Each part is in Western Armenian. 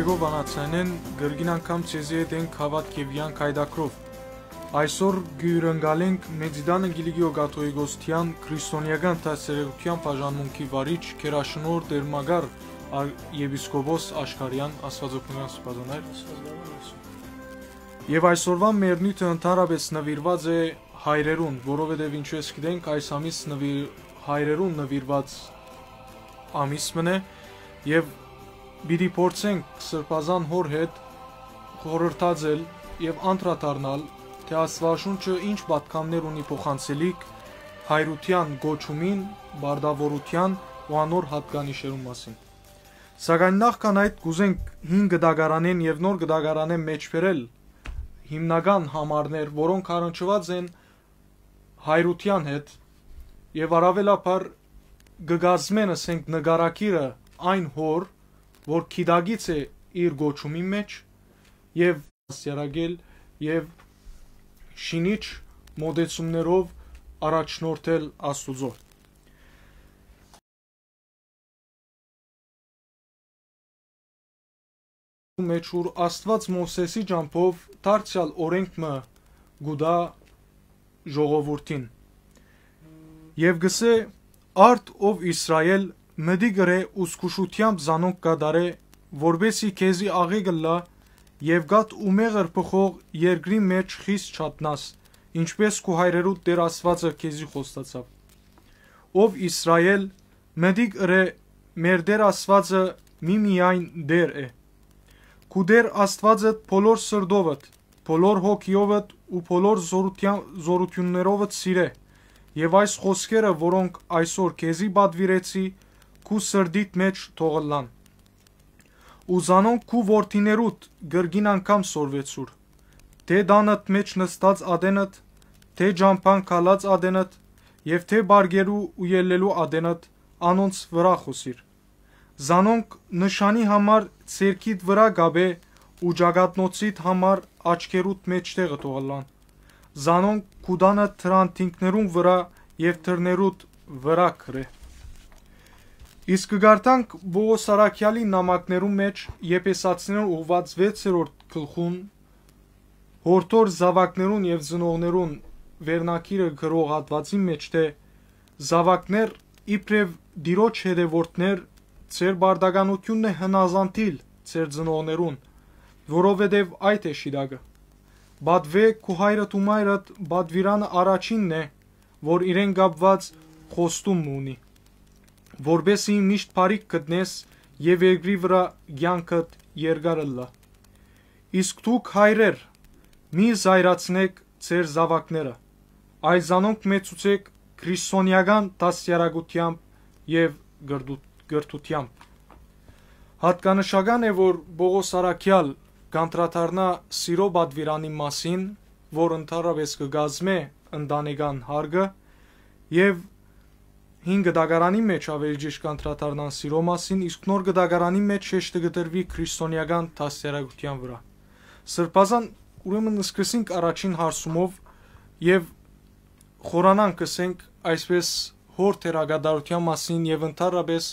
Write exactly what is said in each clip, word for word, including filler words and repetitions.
Գովանացանեն կրկին անգամ ձեզի հետ ենք հաւատք եւ յանք հայդակրով։ Այսօր գիւրընկալենք Մեծիտան Կիլիկիո կաթողիկոսթեան քրիստոնեական դաստիարակութեան բաժանմունքի վարիչ քերաշնոր Տեր Մակար ար-, եպիսկոպոս Աշկարեան, Աստուածօգնական սպասանայր։ Եւ այսօրվա մեր նիւթը ընդհանրապես նուիրուած է հայրերուն, որովհետեւ ինչպես գիտենք, այս ամիս նվիր-, հայրերուն նուիրուած ամիս մըն է, եւ պիտի փորձենք Սրբազան Հօր հետ խորհրդածել եւ անդրադառնալ, թէ Աստուածաշունչը ինչ պատգամներ ունի փոխանցելիք հայրութեան կոչումին, պարտաւորութեան ու անոր յատկանիշերուն մասին։ Սակայն նախքան այդ կ'ուզենք հին կտակարանէն եւ նոր կտակարանէն մէջբերել հիմնական համարներ, որոնք առնչուած են հայրութեան հետ եւ առաւելաբար կը կազմեն, ասենք, նկարագիրը այն հօր, որ գիտակից է իր կոչումի մէջ, եւ դաստիարակել եւ շինիչ մոտեցումներով առաջնորդել Աստուծոյ։ Մէջ, ուր Աստուած Մովսէսի ճամբով դարձեալ օրէնք մը կու տայ ժողովուրդին։ Եւ կ'ըսէ. «Արդ, ով Իսրայէլ, մտիկ ըրէ ու զգուշութեամբ զանոնք կատարէ, որպէսզի քեզի աղէկ ըլլայ եւ կաթ ու մեղր բխող երկրի մէջ խիստ չատնաս, ինչպէս քու հայրերուդ Տէր Աստուածը քեզի խոստացաւ։ Ով Իսրայէլ, մտիկ ըրէ, մեր Տէր Աստուածը միմիայն Տէր է։ Քու Տէր Աստուածդ բոլոր սրտովդ, բոլոր հոգիովդ ու բոլոր զօրութեան-, զօրութիւններովդ սիրէ, եւ այս խօսքերը, որոնք այսօր քեզի պատուիրեցի, քու սրտիդ մէջ թող ըլլան։ Ու զանոնք քու որդիներուդ կրկին անգամ սորվեցուր, թէ տանդ մէջ նստած ատենդ, թէ ճամբան գալած ատենդ եւ թէ պարկերու ու ելլելու ատենդ անոնց վրայ խօսիր։ Զանոնք նշանի համար ձեռքիդ վրայ կապէ ու ճակատնոցիդ համար աչքերուդ մէջտեղը թող ըլլան։ Զանոնք քու տանդ դրանթինքներուն վրայ եւ դռներուդ վրայ գրէ»։ Իսկ կը կարդանք Պողոս առաքեալի նամակներուն մէջ Եփեսացիներուն ուղղուած վեցերորդ գլխուն, յորդոր զաւակներուն եւ ծնողներուն վերնագիրը գրող հատուածին մէջ, թէ. «Զաւակներ, իբրեւ Տիրոջ հետեւորդներ, ձեր պարտականութիւնն է հնազանդիլ ձեր ծնողներուն, որովհետեւ այդ է շիտակը։ Պատուէ քու հայրդ ու մայրդ պատուիրանը առաջինն է, որ իրեն կապուած խոստում մը ունի, որպէս զի միշտ բարիք գտնես եւ երկրի վրայ կեանքդ երկար ըլլայ։ Իսկ դուք, հայրեր, մի զայրացնէք ձեր զաւակները, այլ զանոնք մեծցուցէք քրիստոնեական դաստիարակութեամբ եւ կրթու-, կրթութեամբ»։ Յատկանշական է, որ Պողոս առաքեալ կանդրադառնայ սիրո պատուիրանի մասին, որ ընդհանրապէս կը կազմէ ընտանեկան յարգը, եւ հին կտակարանի մէջ, ավելի ճիշդ, կանդրադառնան սիրո մասին, իսկ նոր կտակարանի մէջ շեշտը կը դրուի քրիստոնեական դաստիարակութեան վրայ։ Սրբազան, ուրեմն սկսենք առաջին հարցումով եւ խորանանք, կ'ըսենք այսպես, հոր դերակատարութեան մասին եւ ընդհանրապէս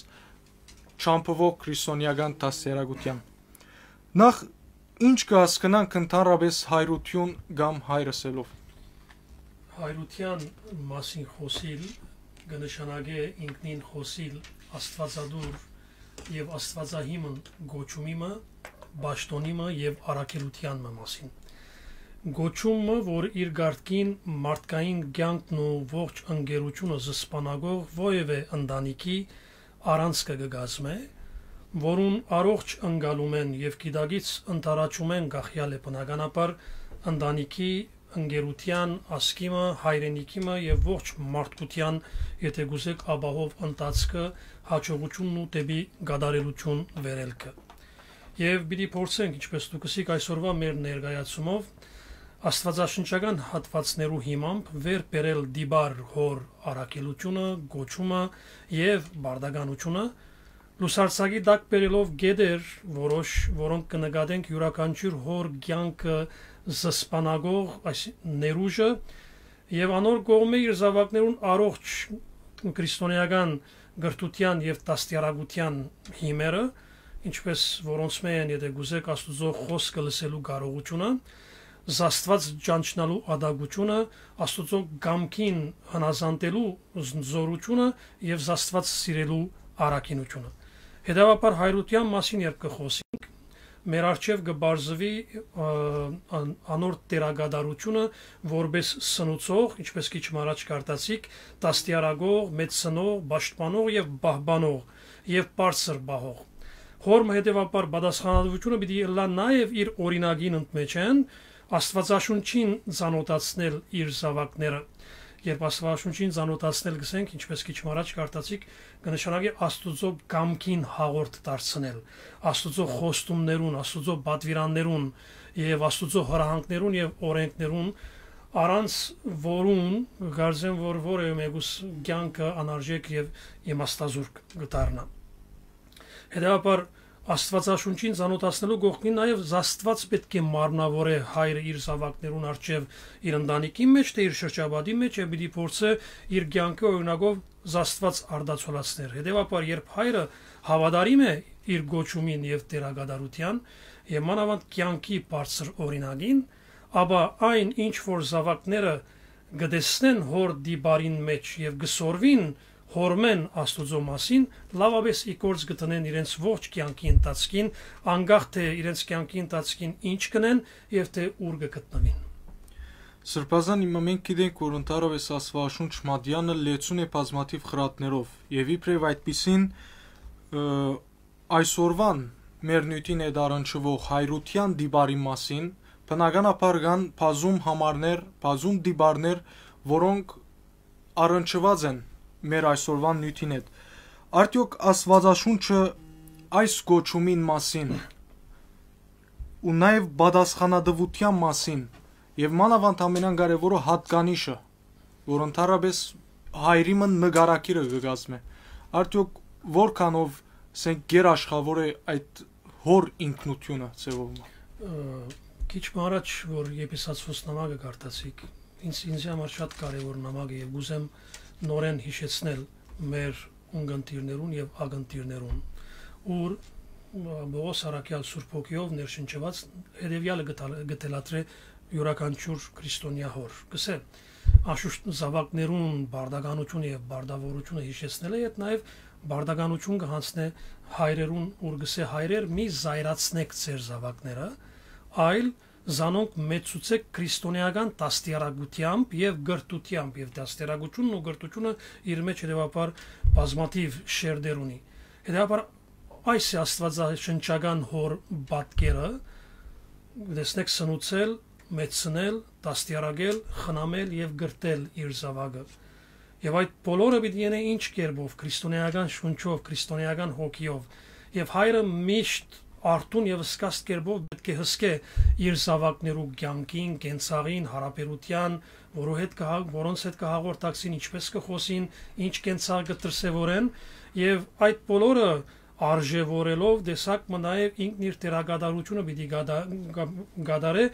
ճամբուող քրիստոնեական դաստիարակութեան։ Նախ, ինչ կը հասկնանք ընդհանրապէս հայրութիւն կամ հայր ըսելով։ Հայրութեան մասին խօսիլ կը նշանակէ ինքնին խօսիլ աստուածատուր եւ աստուածահիմն կոչումի մը, պաշտօնի մը եւ առաքելութեան մը մասին։ Կոչում մը, որ իր կարգին մարդկային կեանքն ու ողջ ընկերությունը զսպանակող որեւէ ընտանիքի առանցքը կը կազմէ, որուն առողջ ընկալումէն եւ գիտակից ընդառաջումէն կախեալ է բնականաբար ընտանիքի, ընկերութեան, ազգի մը, հայրենիքի մը եւ ողջ մարդկութեան, եթե կ'ուզեք, ապահով ընթացքը, յաջողությունն ու դէպի կատարելություն վերելքը։ Եւ պիտի փորձենք, ինչպես դուք ըսիք, այսօրվա մեր ներկայացումով աստվածաշնչական հատվածներու հիմամբ վեր բերել տիպար հոր առաքելությունը, կոչումը եւ պարտականությունը, լուսարձակի տակ բերելով կետեր որոշ, որոնք կը նկատենք յուրաքանչիւր հոր կեանքը զսպանակող այս ներուժը, եւ անոր կողմէ իր զաւակներուն առողջ քրիստոնեական կրթութեան եւ դաստիարակութեան հիմերը, ինչպես որոնցմէ են, եթե կ'ուզէք, Աստուծոյ խօսքը լսելու կարողութիւնը, զաստուած ճանչնալու ատակութիւնը, Աստուծոյ կամքին հնազանդելու զ-, զօրութիւնը եւ զաստուած սիրելու առաքինութիւնը։ Հետեւաբար, հայրութեան մասին երբ կը խօսինք, մեր առջեւ կը պարզուի, ը, ան-, անոր դերակատարութիւնը որպէս սնուցող, ինչպես քիչ մը առաջ կարդացիք, դաստիարակող, մեծցնող, պաշտպանող եւ պահպանող եւ բարձր պահող։ Հոր մը հետեւաբար պատասխանատուութիւնը պիտի ըլլայ նաեւ իր օրինակին ընդմէջէն, Աստուածաշունչին ծանօթացնել իր զաւակները։ Երբ Աստուածաշունչին ծանօթացնել գսենք, ինչպես քիչ մը առաջ կարդացիք, կը նշանակի Աստուծոյ կամքին հաղորդ դարձնել, Աստուծոյ խոստումներուն, Աստուծոյ պատուիրաններուն եւ Աստուծոյ հրահանգներուն եւ օրենքներուն, առանց որուն կարծեմ, որ որեւէ մեկուս կեանքը անարժեք եւ իմաստազուրկ կը դառնայ։ Հետեւաբար, Աստուածաշունչին ծանօթացնելու կողքին նաեւ Աստուած պէտք է մարմնաւորէ հայրը իր զաւակներուն առջեւ, իր ընտանիքին մէջ, թէ իր շրջապատի մէջ, եւ պիտի փորձէ իր կեանքի օրինակով Աստուած արտացոլացնել։ Հետեւաբար, երբ հայրը հաւատարիմ է իր կոչումին եւ դերակատարութեան, եւ մանաւանդ կեանքի բարձր օրինակին, ապա այն, ինչ որ զաւակները կը տեսնեն հոր դիպարին մէջ եւ կը սորվին հորմէն Աստուծոյ մասին, լաւապէս ի գործ կը դնեն իրենց ողջ կեանքի ընթացքին, անկախ թէ իրենց կեանքի ընթացքին ինչ կ'ընեն եւ թէ ուր կը գտնուին։ Սրբազան, հիմա մենք գիտենք, որ ընդհանրապէս Աստուածաշունչ մատեանը լեցուն է բազմաթիւ խրատներով, եւ իբրեւ այդպիսին, ը, այսօրվան մեր նիւթին հետ առնչուող հայրութեան դիպարի մասին, բնականաբար կան բազում համարներ, բազում դիպարներ, որոնք առնչուած են մեր այսօրվան նիւթին հետ։ Արդեօք Աստուածաշունչը այս կոչումին մասին ու նաեւ պատասխանատուութեան մասին, եւ մանաւանդ ամենակարեւորը՝ յատկանիշը, որ ընդհանրապէս հայրի մը նկարագիրը կը կազմէ, արդեօք որքանով, ասենք, գերաշխաւոր է այդ հոր ինքնութիւնը ձեւով մը։ Ը, քիչ մը առաջ, որ Եփեսացւոց նամակը կարդացիք, ինձ, ինձի համար շատ կարեւոր նամակ է, եւ կ'ուզեմ նորէն յիշեցնել մեր ունկնդիրներուն եւ ակնդիրներուն, ուր, ը, Պողոս առաքեալ Սուրբ Հոգիով ներշնչուած հետեւեալը կը թալ-, կը թելադրէ իւրաքանչիւր քրիստոնեայ հոր։ Կ'ըսէ, անշուշտ, զաւակներուն պարտականութիւնը եւ պարտաւորութիւնը յիշեցնելը հետ նաեւ պարտականութիւն կը յանձնէ հայրերուն, ուր կ'ըսէ. «Հայրեր, մի զայրացնէք ձեր զաւակները, այլ զանոնք մեծցուցէք քրիստոնէական դաստիարակութեամբ եւ կրթութեամբ», եւ դաստիարակութիւնն ու կրթութիւնը իր մէջ հետեւաբար բազմաթիւ շերտեր ունի։ Հետեւաբար, այս է աստուածաշնչական հոր պատկերը, տեսնեք, սնուցել, մեծցնել, դաստիարակել, խնամել եւ կրթել իր զաւակը։ Եւ այդ բոլորը պիտի յենէ ինչ կերպով, քրիստոնէական շունչով, քրիստոնէական հոգիով։ Եւ հայրը միշտ արթուն եւ սկսած կերպով պէտք է հսկէ իր զաւակներու կեանքին, կենցաղին, յարաբերութեան, որու հետ կը հա-, որոնց հետ կը հաղորդակցին, ինչպես կը խօսին, ինչ կենցաղ կը դրսեւորեն, եւ այդ բոլորը արժեւորելով, տեսակ մը նաեւ ինքն իր դերակատարութիւնը պիտի կատա-, կա-, կատարէ,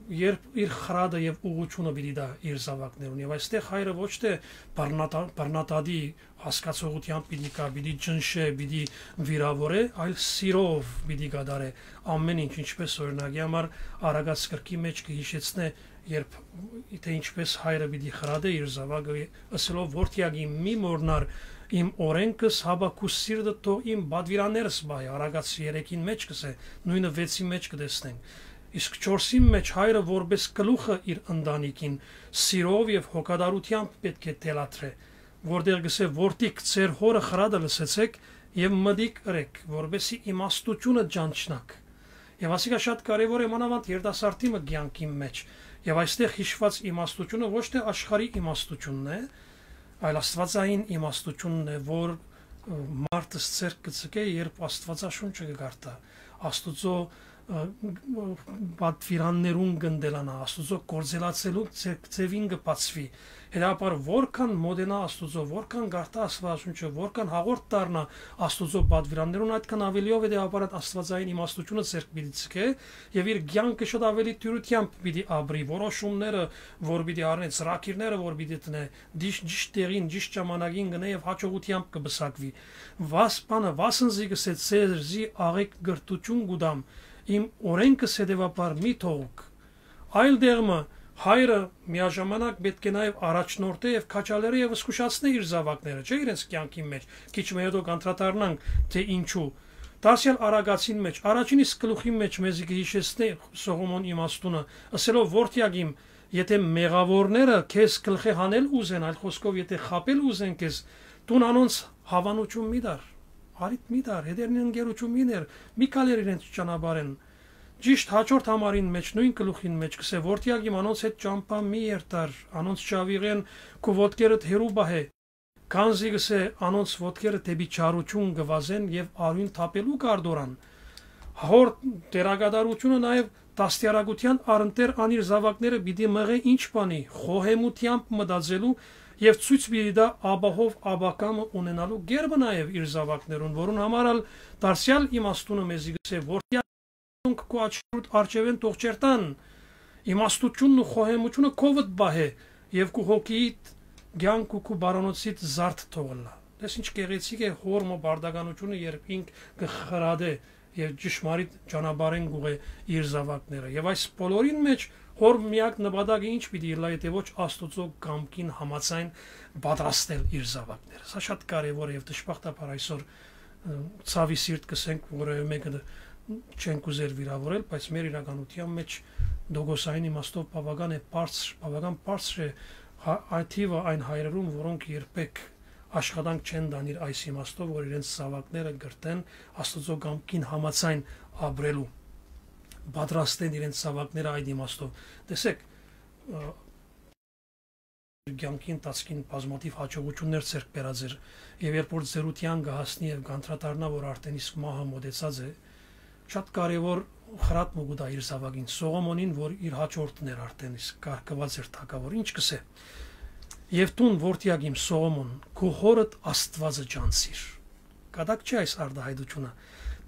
երբ իր խրատը եւ ուղղութիւնը պիտի տայ իր զաւակներուն։ Եւ այստեղ հայրը ոչ թէ բռնատա-, բռնատատի հասկացողութեամբ պիտի գայ, պիտի ճնշէ, պիտի վիրաւորէ, այլ սիրով պիտի կատարէ ամէն ինչ, ինչպես, օրինակի համար, Արագած կրքի մէջ կը յիշեցնէ, երբ, թէ ինչպես հայրը պիտի խրատէ իր զաւակը, ըսելով. «Որդեակ իմ, մի մոռնար իմ օրէնքս, հապա քու սիրտդ թող իմ պատուիրաններս պահէ», Արագած երեքին մէջ կ'ըսէ, նոյնը վեցին մէջ կը տեսնենք։ Իսկ չորսին մէջ հայրը որպէս գլուխը իր ընտանիքին սիրով եւ հոգատարութեամբ պէտք է թելադրէ, որտեղ կ'ըսէ. «Որդիք, ձեր հօրը խրատը լսեցէք եւ մտիկ ըրէք, որպէսզի իմաստութիւնը ճանչնաք»։ Եւ ասիկա շատ կարեւոր է, մանաւանդ երիտասարդի մը կեանքին մէջ։ Եւ այստեղ յիշուած իմաստութիւնը ոչ թէ աշխարհի իմաստութիւնն է, այլ աստուածային իմաստութիւնն է, որ, ը, մարդս ձեռք կը ձգէ, երբ Աստուածաշունչը կը կարդայ, Աստուծոյ ը, պատվիրաններուն կ'ընտելանայ, Աստուծոյ գործելացելու ձե-, ձեւին կը բացուի։ Հետաբար, որքան մօտենայ Աստուծոյ, որքան կարդայ Աստուածաշունչը, որքան հաղորդ դառնայ Աստուծոյ պատվիրաններուն, այդքան աւելիով հետաբար այդ աստուածային իմաստութիւնը ձեռք պիտի ձգէ եւ իր կեանքը շատ աւելի դիւրութեամբ պիտի ապրի, որոշումները, որ պիտի առնէ, ծրագիրները, որ պիտի դնէ, ճիշ-, ճիշտ տեղին, ճիշտ ժամանակին կ'ընէ եւ յաջողութեամբ կը պսակուի։ Վաս-, բանը, վասն զի կ'ըսէ, ձեզի աղէկ կրթութիւն կու տամ, իմ օրէնքս հետեւաբար մի թողուք։ Այլ դեղ մը, հայրը միաժամանակ պէտք է նաեւ առաջնորդէ եւ քաջալերէ եւ զգուշացնէ իր զաւակները, չէ՞, իրենց կեանքին մեջ։ Քիչ մը յետոյ կ'անդրադառնանք, թէ ինչու։ Դարձեալ Արագածին մեջ, առաջին իսկ գլուխին մեջ մեզի կը յիշեցնէ Սողոմոն իմաստունը, ըսելով. «Որդեակ իմ, եթէ մեղաւորները քեզ գլխէ հանել ուզեն, այլ խօսքով, եթէ խաբել ուզեն քեզ, դուն անոնց հաւանութիւն մի տար, առիթ մի տար, հետերնին ընկերութիւն մի ներ, մի քալեր իրենց ճանապարհէն»։ Ճիշտ հաջորդ համարին մեջ, նոյն գլուխին մեջ կ'ըսէ. «Որդեակ իմ, անոնց հետ ճամբայ մի երթար, անոնց չաւիղէն քու ոտքերդ հեռու պահէ, քանզի կ'ըսէ, անոնց ոտքերը դէպի չարութիւն կը վազեն եւ արիւն թափելու կ'արդորան»։ Հոր դերակատարութիւնը նաեւ դաստիարակութեան առընթեր անիր զաւակները պիտի մղէ ինչ բանի, խոհեմութեամբ մտածելու եւ ցոյց պիտի տայ ապահով ապագայ մը ունենալու կերպը նաեւ իր զաւակներուն, որուն համար ալ դարձեալ իմաստունը մեզի կ'ըսէ. «Որդեակ, քու աչքերուդ առջեւէն թող չերթան, իմաստութիւնն ու խոհեմութիւնը քովդ պահէ եւ քու հոգիիդ կեանք ու քու բարանոցիդ զարդ թող ըլլայ»։ Տես ինչ գեղեցիկ է հոր մը պարտականութիւնը, երբ ինք կը խրատէ եւ ճշմարիտ ճանապարհէն կ'ուղղէ իր զաւակները։ Եւ այս բոլորին մեջ հոր միակ նպատակը ինչ պիտի ըլլայ, եթէ ոչ Աստուծոյ կամքին համաձայն պատրաստել իր զաւակները։ Սա շատ կարեւոր է եւ դժբախտաբար այսօր, ը, ցաւի սիրտ կ'ըսենք, որեւէ մեկը դ-, չենք ուզեր վիրավորել, բայց մեր իրականութեան մեջ տոկոսային իմաստով բաւական է բարձր, բաւական բարձր է հա-, այն թիւը այն հայրերուն, որոնք երբեք աշխատանք չեն տանիր այս իմաստով, որ իրենց զաւակները կրթեն Աստուծոյ կամքին համաձայն ապրելու, պատրաստեն իրենց զաւակները այդ իմաստով։ Տեսեք, ը, կեանքի ընթացքին բազմաթիւ յաջողութիւններ ձեռք բերած էր, եւ երբ որ ծերութեան կը հասնի եւ կ'անդրադառնայ, որ արդեն իսկ մահը մօտեցած է, շատ կարեւոր խրատ մը կու տայ իր զաւակին Սողոմոնին, որ իր հաջորդն էր, արդեն իսկ կարգուած էր թագաւոր։ Ինչ կ'ըսէ. «Եւ դուն, որդեակ իմ Սողոմոն, քու հօրդ Աստուածը ճանչցիր»։ Կատակ չէ՞ այս արտահայտութիւնը։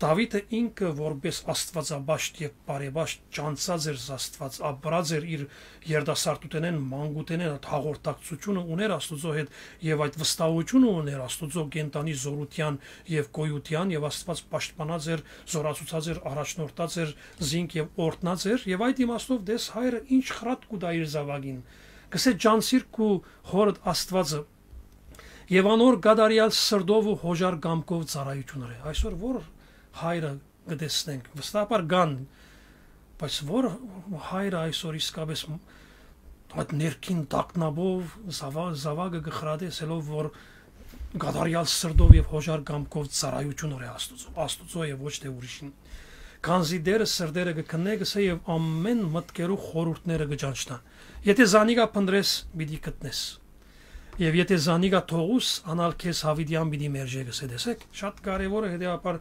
Դաւիթը ինքը որպէս աստուածապաշտ եւ բարեպաշտ ճանչցած էր Աստուած, ապրած էր իր երիտասարդութենէն, մանկութենէն, այդ հաղորդակցութիւնը ունէր Աստուծոյ հետ եւ այդ վստահութիւնը ունէր Աստուծոյ կենդանի զօրութեան եւ գոյութեան, եւ Աստուած պաշտպանած էր, զօրացուցած էր, առաջնորդած էր զինք եւ օրհնած էր, եւ այդ իմաստով տես հայրը ինչ խրատ կու տայ իր զաւակին։ Կ'ըսէ. «Ճանչցիր քու հօրդ Աստուածը եւ անոր կատարեալ սրտով ու հոժար կամքով ծառայութիւն ըրէ»։ Այսօր ո՞ր հայրը կը տեսնենք, վստահաբար կան, բայց ո՞ր հայրը այսօր իսկապես մ-, այդ ներքին տագնապով զաვა-, զաւակը կը խրատեսելով, որ կատարեալ սրտով եւ հոժար կամքով ծառայութիւն ըրէ Աստուծոյ, Աստուծոյ եւ ոչ թէ ուրիշին։ Քանզի Տէրը սրտերը կը քննէ, կ'ըսէ, եւ ամէն մտքերու խորհուրդները կը ճանչնայ։ Եթէ զանիկա փնտռես, պիտի գտնես։ Եւ եթէ զանիկա թողուս, անալ քեզ յաւիտեան պիտի մերժէ, կ'ըսէ, տեսեք, շատ կարեւոր է, հետեւաբար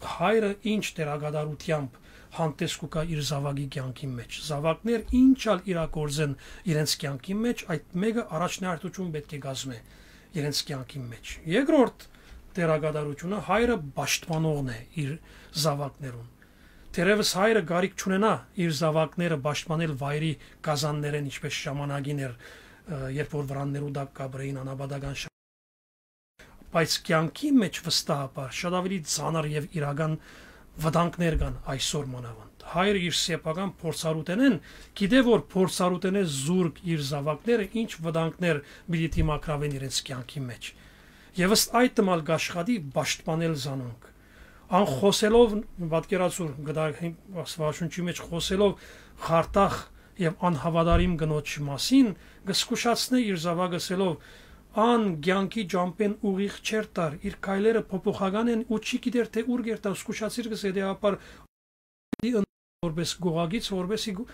հայրը ինչ դերակատարութեամբ հանդես կու գայ իր զաւակի կեանքին մեջ։ Զաւակներ ինչ ալ իրագործեն իրենց կեանքին մեջ, այդ մէկը առաջնահերթութիւն պէտք է կազմէ իրենց կեանքին մեջ։ Երկրորդ դերակատարութիւնը հայրը պաշտպանողն է իր զաւակներուն։ Թերեւս հայրը կարիք չունենայ իր զաւակները պաշտպանել վայրի կազաններէն, ինչպէս ժամանակին էր, ը, երբ որ վրաններու տակ կ'ապրէին անապատական շա-, բայց կեանքի մեջ վստահաբար շատ ավելի ծանր եւ իրական վտանգներ կան այսօր մանավանդ։ Հայրը իր սեփական փորձառութենէն գիտէ, որ փորձառութենէ զուրկ իր զաւակները ինչ վտանգներ պիտի դիմագրաւեն իրենց կեանքի մեջ։ Եւս այդ ալ կ'աշխատի պաշտպանել զանոնք։ Անխօսելով, պատկերացուր, գտա-, Աստուածաշունչի մեջ խօսելով խարդախ եւ անհաւատարիմ կնոջ մասին, կը զգուշացնէ իր զաւակը, ըսելով. «Ան կեանքի ճամբէն ուղիղ չէր տար, իր քայլերը փոփոխական են ու չի գիտեր, թէ ուր կերթայ», զգուշացիր, կ'ըսէ, հետեւաբար պիտի ըն-, որպես գողագիծ, որպեսի գ-,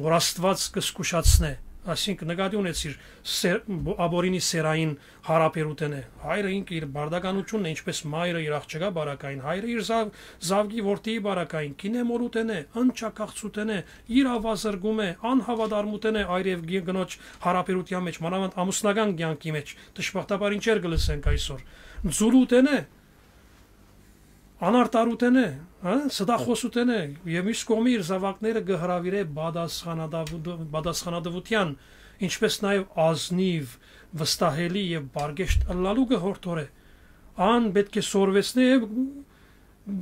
որ Աստուած կը զգուշացնէ Այսինքն, նկատի ունեցիր սեր-, բ-, ապօրինի սերային յարաբերութենէ։ Հայրը ինքը իր բարդականությունն է, ինչպես մայրը իր աղջկայ բարակային, հայրը իր զաւ-, զաւկի որդիի բարակային, կինեմորութենէ, ընչակախցութենէ, իրաւազրկումէ, անհաւատարմութենէ այր եւ գի-, կնոջ յարաբերութեան մէջ, մանաւանդ ամուսնական կեանքի մէջ, դժբախտաբար ինչեր կը լսենք այսօր, ձուլութենէ, անարտարութենէ, հա, ստախոսութենէ, եւ մյուս կողմի իր զաւակները կը հրաւիրէ պատասխանատավու-, պատասխանատվութեան, ինչպես նաեւ ազնիվ, վստահելի եւ բարգեշտ ըլլալու կը յորդորէ։ Ան պէտք է սորվեցնէ եւ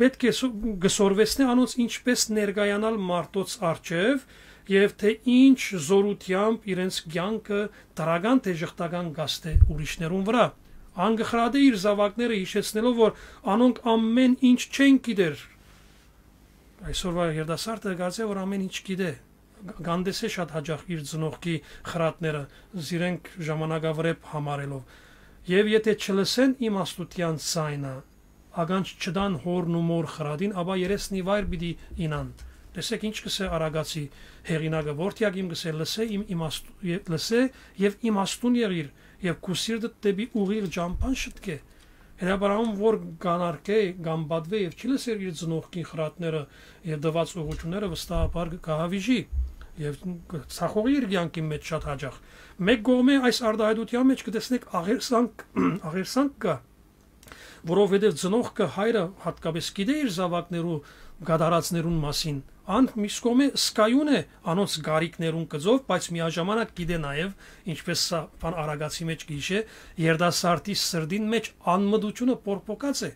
պէտք է սո-, կը սորվեցնէ անոնց ինչպես ներկայանալ մարդոց առջեւ եւ թէ ինչ զօրութեամբ իրենց կեանքը դրական թէ ժխտական կ'ազդէ ուրիշներուն վրայ։ Ան կը խրատէ իր զաւակները յիշեցնելով, որ անոնք ամեն ինչ չեն գիտեր։ Այսօրվա երիտասարդը կարծէ, որ ամեն ինչ գիտէ, կ-, կ'անտեսէ շատ յաճախ իր ծնողքի խրատները, զիրենք ժամանակավրէպ համարելով։ Եւ եթէ չլսեն իմաստութեան ձայնը, ականջ չտան հօրն ու մօր խրատին, ապա երեսն ի վայր պիտի ինան։ Տեսեք, ինչ կ'ըսէ Արագացի հեղինակը, որդեակ իմ, կ'ըսէ, լսէ իմ իմաստ-, ե-, լսէ եւ իմաստուն եղիր, եւ քու սիրտդ դէպի ուղիղ ճամբան շտկէ։ Հետաբար ան որ կ'անարկէ, կ'անպատուէ եւ չի լսեր իր ծնողքին խրատները եւ տուած ուղղությունները, վստահաբար կը կահավիժի եւ կը ցախողի իր կեանքին մէջ շատ յաճախ։ Մէկ կողմէ այս արտայայտութեան մէջ կը տեսնեք աղերսանք, աղերսանք կայ, որովհետեւ ծնողքը, հայրը յատկապես գիտէ իր զաւակներու կատարածներուն մասին, ան մյուս կողմէ զգայուն է անոնց կարիքներուն կծով, բայց միաժամանակ գիտէ նաեւ, ինչպես սա բան Արագացի մէջ կ'յիշէ, երիտասարդի սրտին մէջ անմտությունը պորպոկած է։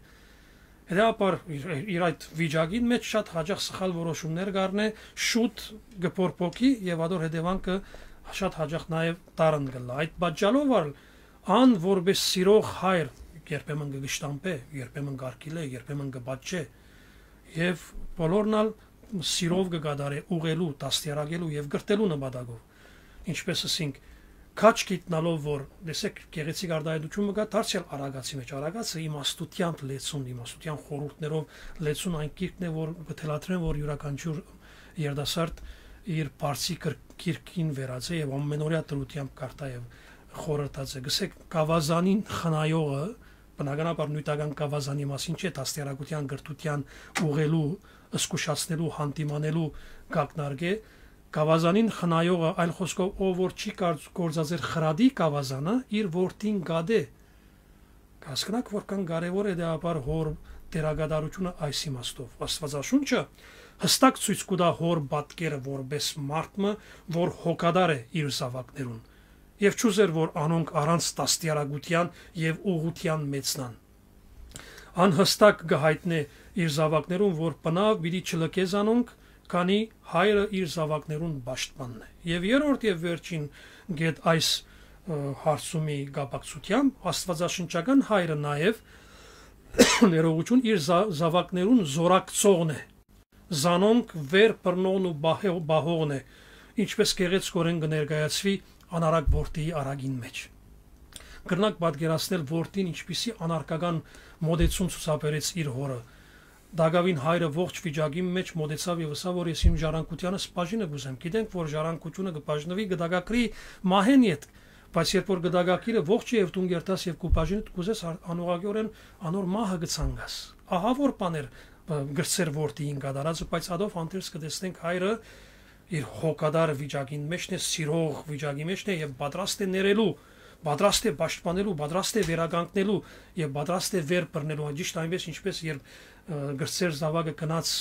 Հետեւաբար իր, իր այդ վիճակին մէջ շատ յաճախ սխալ որոշումներ կ'առնէ, շուտ կը պորպոկի եւ ադոր հետեւանքը շատ յաճախ նաեւ դառն կ'ըլլայ։ Այդ պատճառով ալ ան որպէս սիրող հայր երբեմն կը կշտամբէ, երբեմն կ'արգիլէ, երբեմն կը պատժէ եւ բոլորն ալ սիրով կը կատարէ ուղղելու, դաստիարակելու եւ կրթելու նպատակով։ Ինչպես ըսինք, քաջ գիտնալով որ, տեսեք, գեղեցիկ արտայայտություն մը կայ դարձեալ Արագացի մէջ։ Արագացը իմաստութեան լեցուն, իմաստութեան խորհուրդներով լեցուն այն գիրքն է, որ կը թելադրեմ, որ իւրաքանչիւր երիտասարդ իր բարձի կր-, գիրքին վերած է եւ ամենօրեայ դրութեամբ կարդայ եւ խորհրդած է։ Գսեք, գաւազանին խնայողը, բնականաբար նիւթական գաւազանի մասին չէ, դաստիարակութեան, կրթութեան, ուղղելու, զգուշացնելու, յանդիմանելու կ'ակնարկէ, գաւազանին խնայողը, այլ խօսքով, ով որ չի կարծ-, գործածեր խրատի գաւազանը, իր որդին կ'ատէ։ Կ'հասկնաք, որքան կարեւոր է դեաբար հոր դերակատարությունը այս իմաստով։ Աստուածաշունչը յստակ ցոյց կու տայ հոր պատկերը որպէս մարդ մը, որ հոգատար է իր զաւակներուն, եւ չուզեր, որ անոնք առանց դաստիարակութեան եւ ուղղութեան մեծնան։ Ան յստակ կը յայտնէ իր զաւակներուն, որ բնաւ պիտի չլքէ զանոնք, քանի հայրը իր զաւակներուն պաշտպանն է։ Եւ երրորդ եւ վերջին կետ այս, ը, հարցումի կապակցութեամբ, աստուածաշնչական հայրը նաեւ ներողություն իր զա-, զաւակներուն զորակցողն է, զանոնք վեր բռնողն ու բահե-, բահողն է, ինչպես գեղեցկորեն կը ներկայացուի անարակ որդիի արագին մէջ։ Կրնակ պատկերացնել որդին ինչպիսի անարգական մոտեցում ցուցաբերեց իր հորը։ Տակաւին հայրը ողջ վիճակին մէջ մոտեցաւ եւ ըսաւ, որ ես իմ ժառանգութեանս բաժինը կ'ուզեմ։ Գիտենք, որ ժառանգությունը կը բաժնուի, կը տակագրի մահէն ետք, բայց երբ որ կը տակագրի, ողջ երթաս եւ դուն կ'երթաս եւ քու բաժինդ կ'ուզես, ա-, անուղղակիորեն անոր մահը կը ցանկաս։ Ահա որ բաներ, ը, կրցեր որդիին կատարածը, բայց ադով հանդերձ կը տեսնենք հայրը իր հոգատար վիճակին մէջն է, սիրող վիճակի մէջն է եւ պատրաստ է ներելու, պատրաստ է պաշտպանելու, պատրաստ է վերականգնելու եւ պատրաստ է վեր բռնելու, ճիշտ այնպես, ինչպես երբ, ը, կրցեր զաւակը գնաց